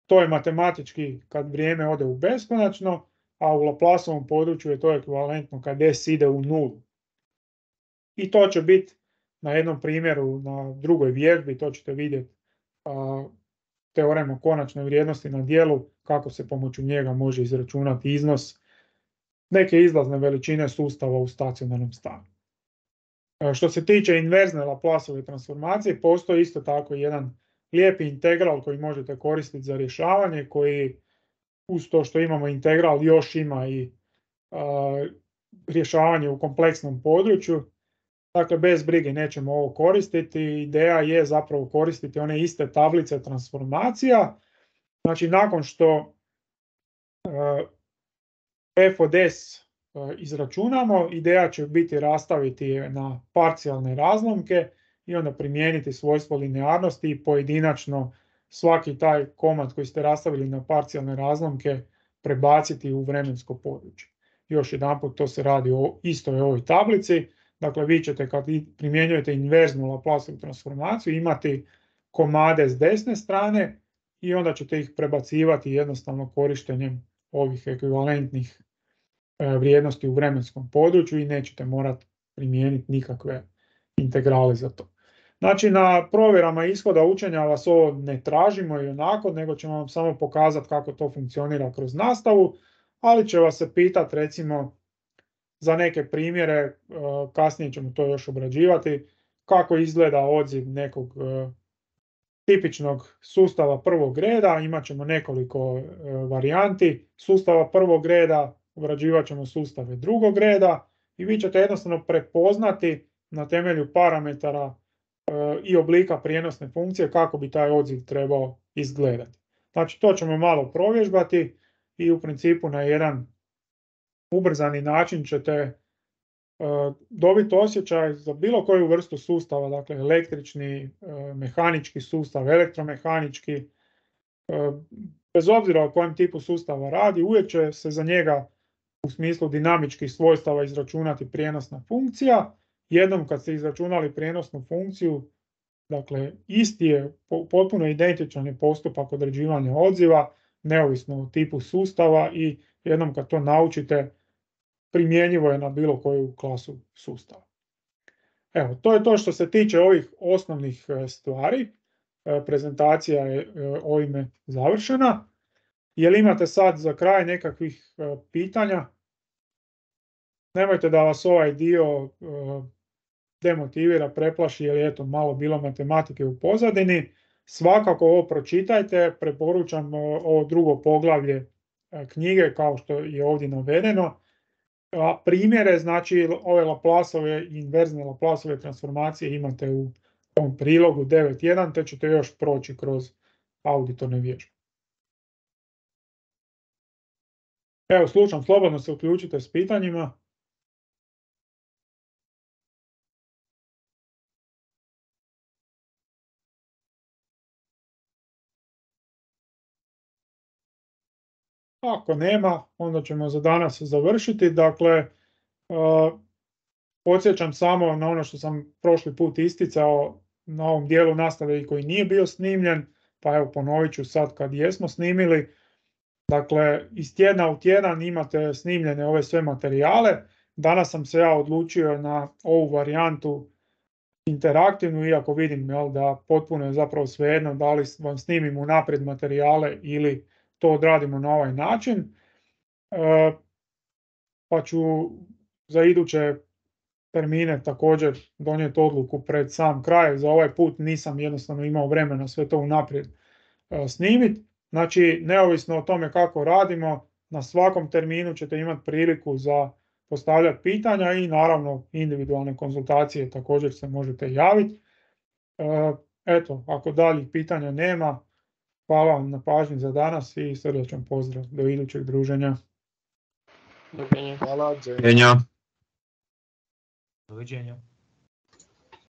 To je matematički kad vrijeme ode u beskonačno, a u Laplaceovom području je to ekvivalentno kad S ide u nulu. I to će biti na jednom primjeru, na drugoj vježbi, to ćete vidjeti a, teorem o konačnoj vrijednosti na dijelu, kako se pomoću njega može izračunati iznos neke izlazne veličine sustava u stacionarnom stanju. Što se tiče inverzne Laplaceove transformacije, postoji isto tako jedan lijepi integral koji možete koristiti za rješavanje, koji uz to što imamo integral još ima i a, rješavanje u kompleksnom području. Dakle, bez brige nećemo ovo koristiti. Ideja je zapravo koristiti one iste tablice transformacija. Znači, nakon što uh, f od s uh, izračunamo, ideja će biti rastaviti na parcijalne razlomke i onda primijeniti svojstvo linearnosti i pojedinačno svaki taj komad koji ste rastavili na parcijalne razlomke prebaciti u vremensko područje. Još jedanput, to se radi o istoj ovoj tablici. Dakle, vi ćete kad primjenjujete inverznu Laplaceovu transformaciju imati komade s desne strane i onda ćete ih prebacivati jednostavno korištenjem ovih ekvivalentnih vrijednosti u vremenskom području i nećete morati primijeniti nikakve integrale za to. Znači, na provjerama ishoda učenja vas ovo ne tražimo i onako, nego ćemo vam samo pokazati kako to funkcionira kroz nastavu, ali će vas se pitati recimo za neke primjere, kasnije ćemo to još obrađivati, kako izgleda odziv nekog tipičnog sustava prvog reda. Imat ćemo nekoliko varijanti sustava prvog reda, obrađivat ćemo sustave drugog reda i vi ćete jednostavno prepoznati na temelju parametara i oblika prijenosne funkcije kako bi taj odziv trebao izgledati. Znači, to ćemo malo provježbati i u principu na jedan ubrzani način ćete uh, dobiti osjećaj za bilo koju vrstu sustava, dakle električni, uh, mehanički sustav, elektromehanički, uh, bez obzira o kojem tipu sustava radi, uvijek će se za njega u smislu dinamičkih svojstava izračunati prijenosna funkcija. Jednom kad ste izračunali prijenosnu funkciju, dakle isti je, potpuno identičan je postupak određivanja odziva, neovisno o tipu sustava i jednom kad to naučite, primjenjivo je na bilo koju klasu sustava. Evo, to je to što se tiče ovih osnovnih stvari. Prezentacija je ovime završena. Jel imate sad za kraj nekakvih pitanja? Nemojte da vas ovaj dio demotivira, preplaši, jer je eto malo bilo matematike u pozadini. Svakako ovo pročitajte, preporučam ovo drugo poglavlje knjige kao što je ovdje navedeno. A primjere, znači ove Laplaceove i inverzne Laplaceove transformacije imate u ovom prilogu devet jedan, te ćete još proći kroz auditorne vježbe. Evo, slušam, slobodno se uključite s pitanjima. Ako nema, onda ćemo za danas završiti. Dakle, uh, podsjećam samo na ono što sam prošli put isticao na ovom dijelu nastave i koji nije bio snimljen, pa evo ponovit ću sad kad jesmo snimili. Dakle, iz tjedna u tjedan imate snimljene ove sve materijale. Danas sam se ja odlučio na ovu varijantu interaktivnu, iako vidim jel, da potpuno je zapravo svejedno da li vam snimim unaprijed materijale ili to odradimo na ovaj način. E, pa ću za iduće termine također donijeti odluku pred sam kraj. Za ovaj put nisam jednostavno imao vremena sve to unaprijed e, snimiti. Znači, neovisno o tome kako radimo, na svakom terminu ćete imati priliku za postavljati pitanja i naravno individualne konzultacije također se možete javiti. E, eto, ako daljih pitanja nema, hvala vam na pažnji za danas i srdačan pozdrav do idućeg druženja. Doviđenja. Hvala, Doviđenja. Doviđenja.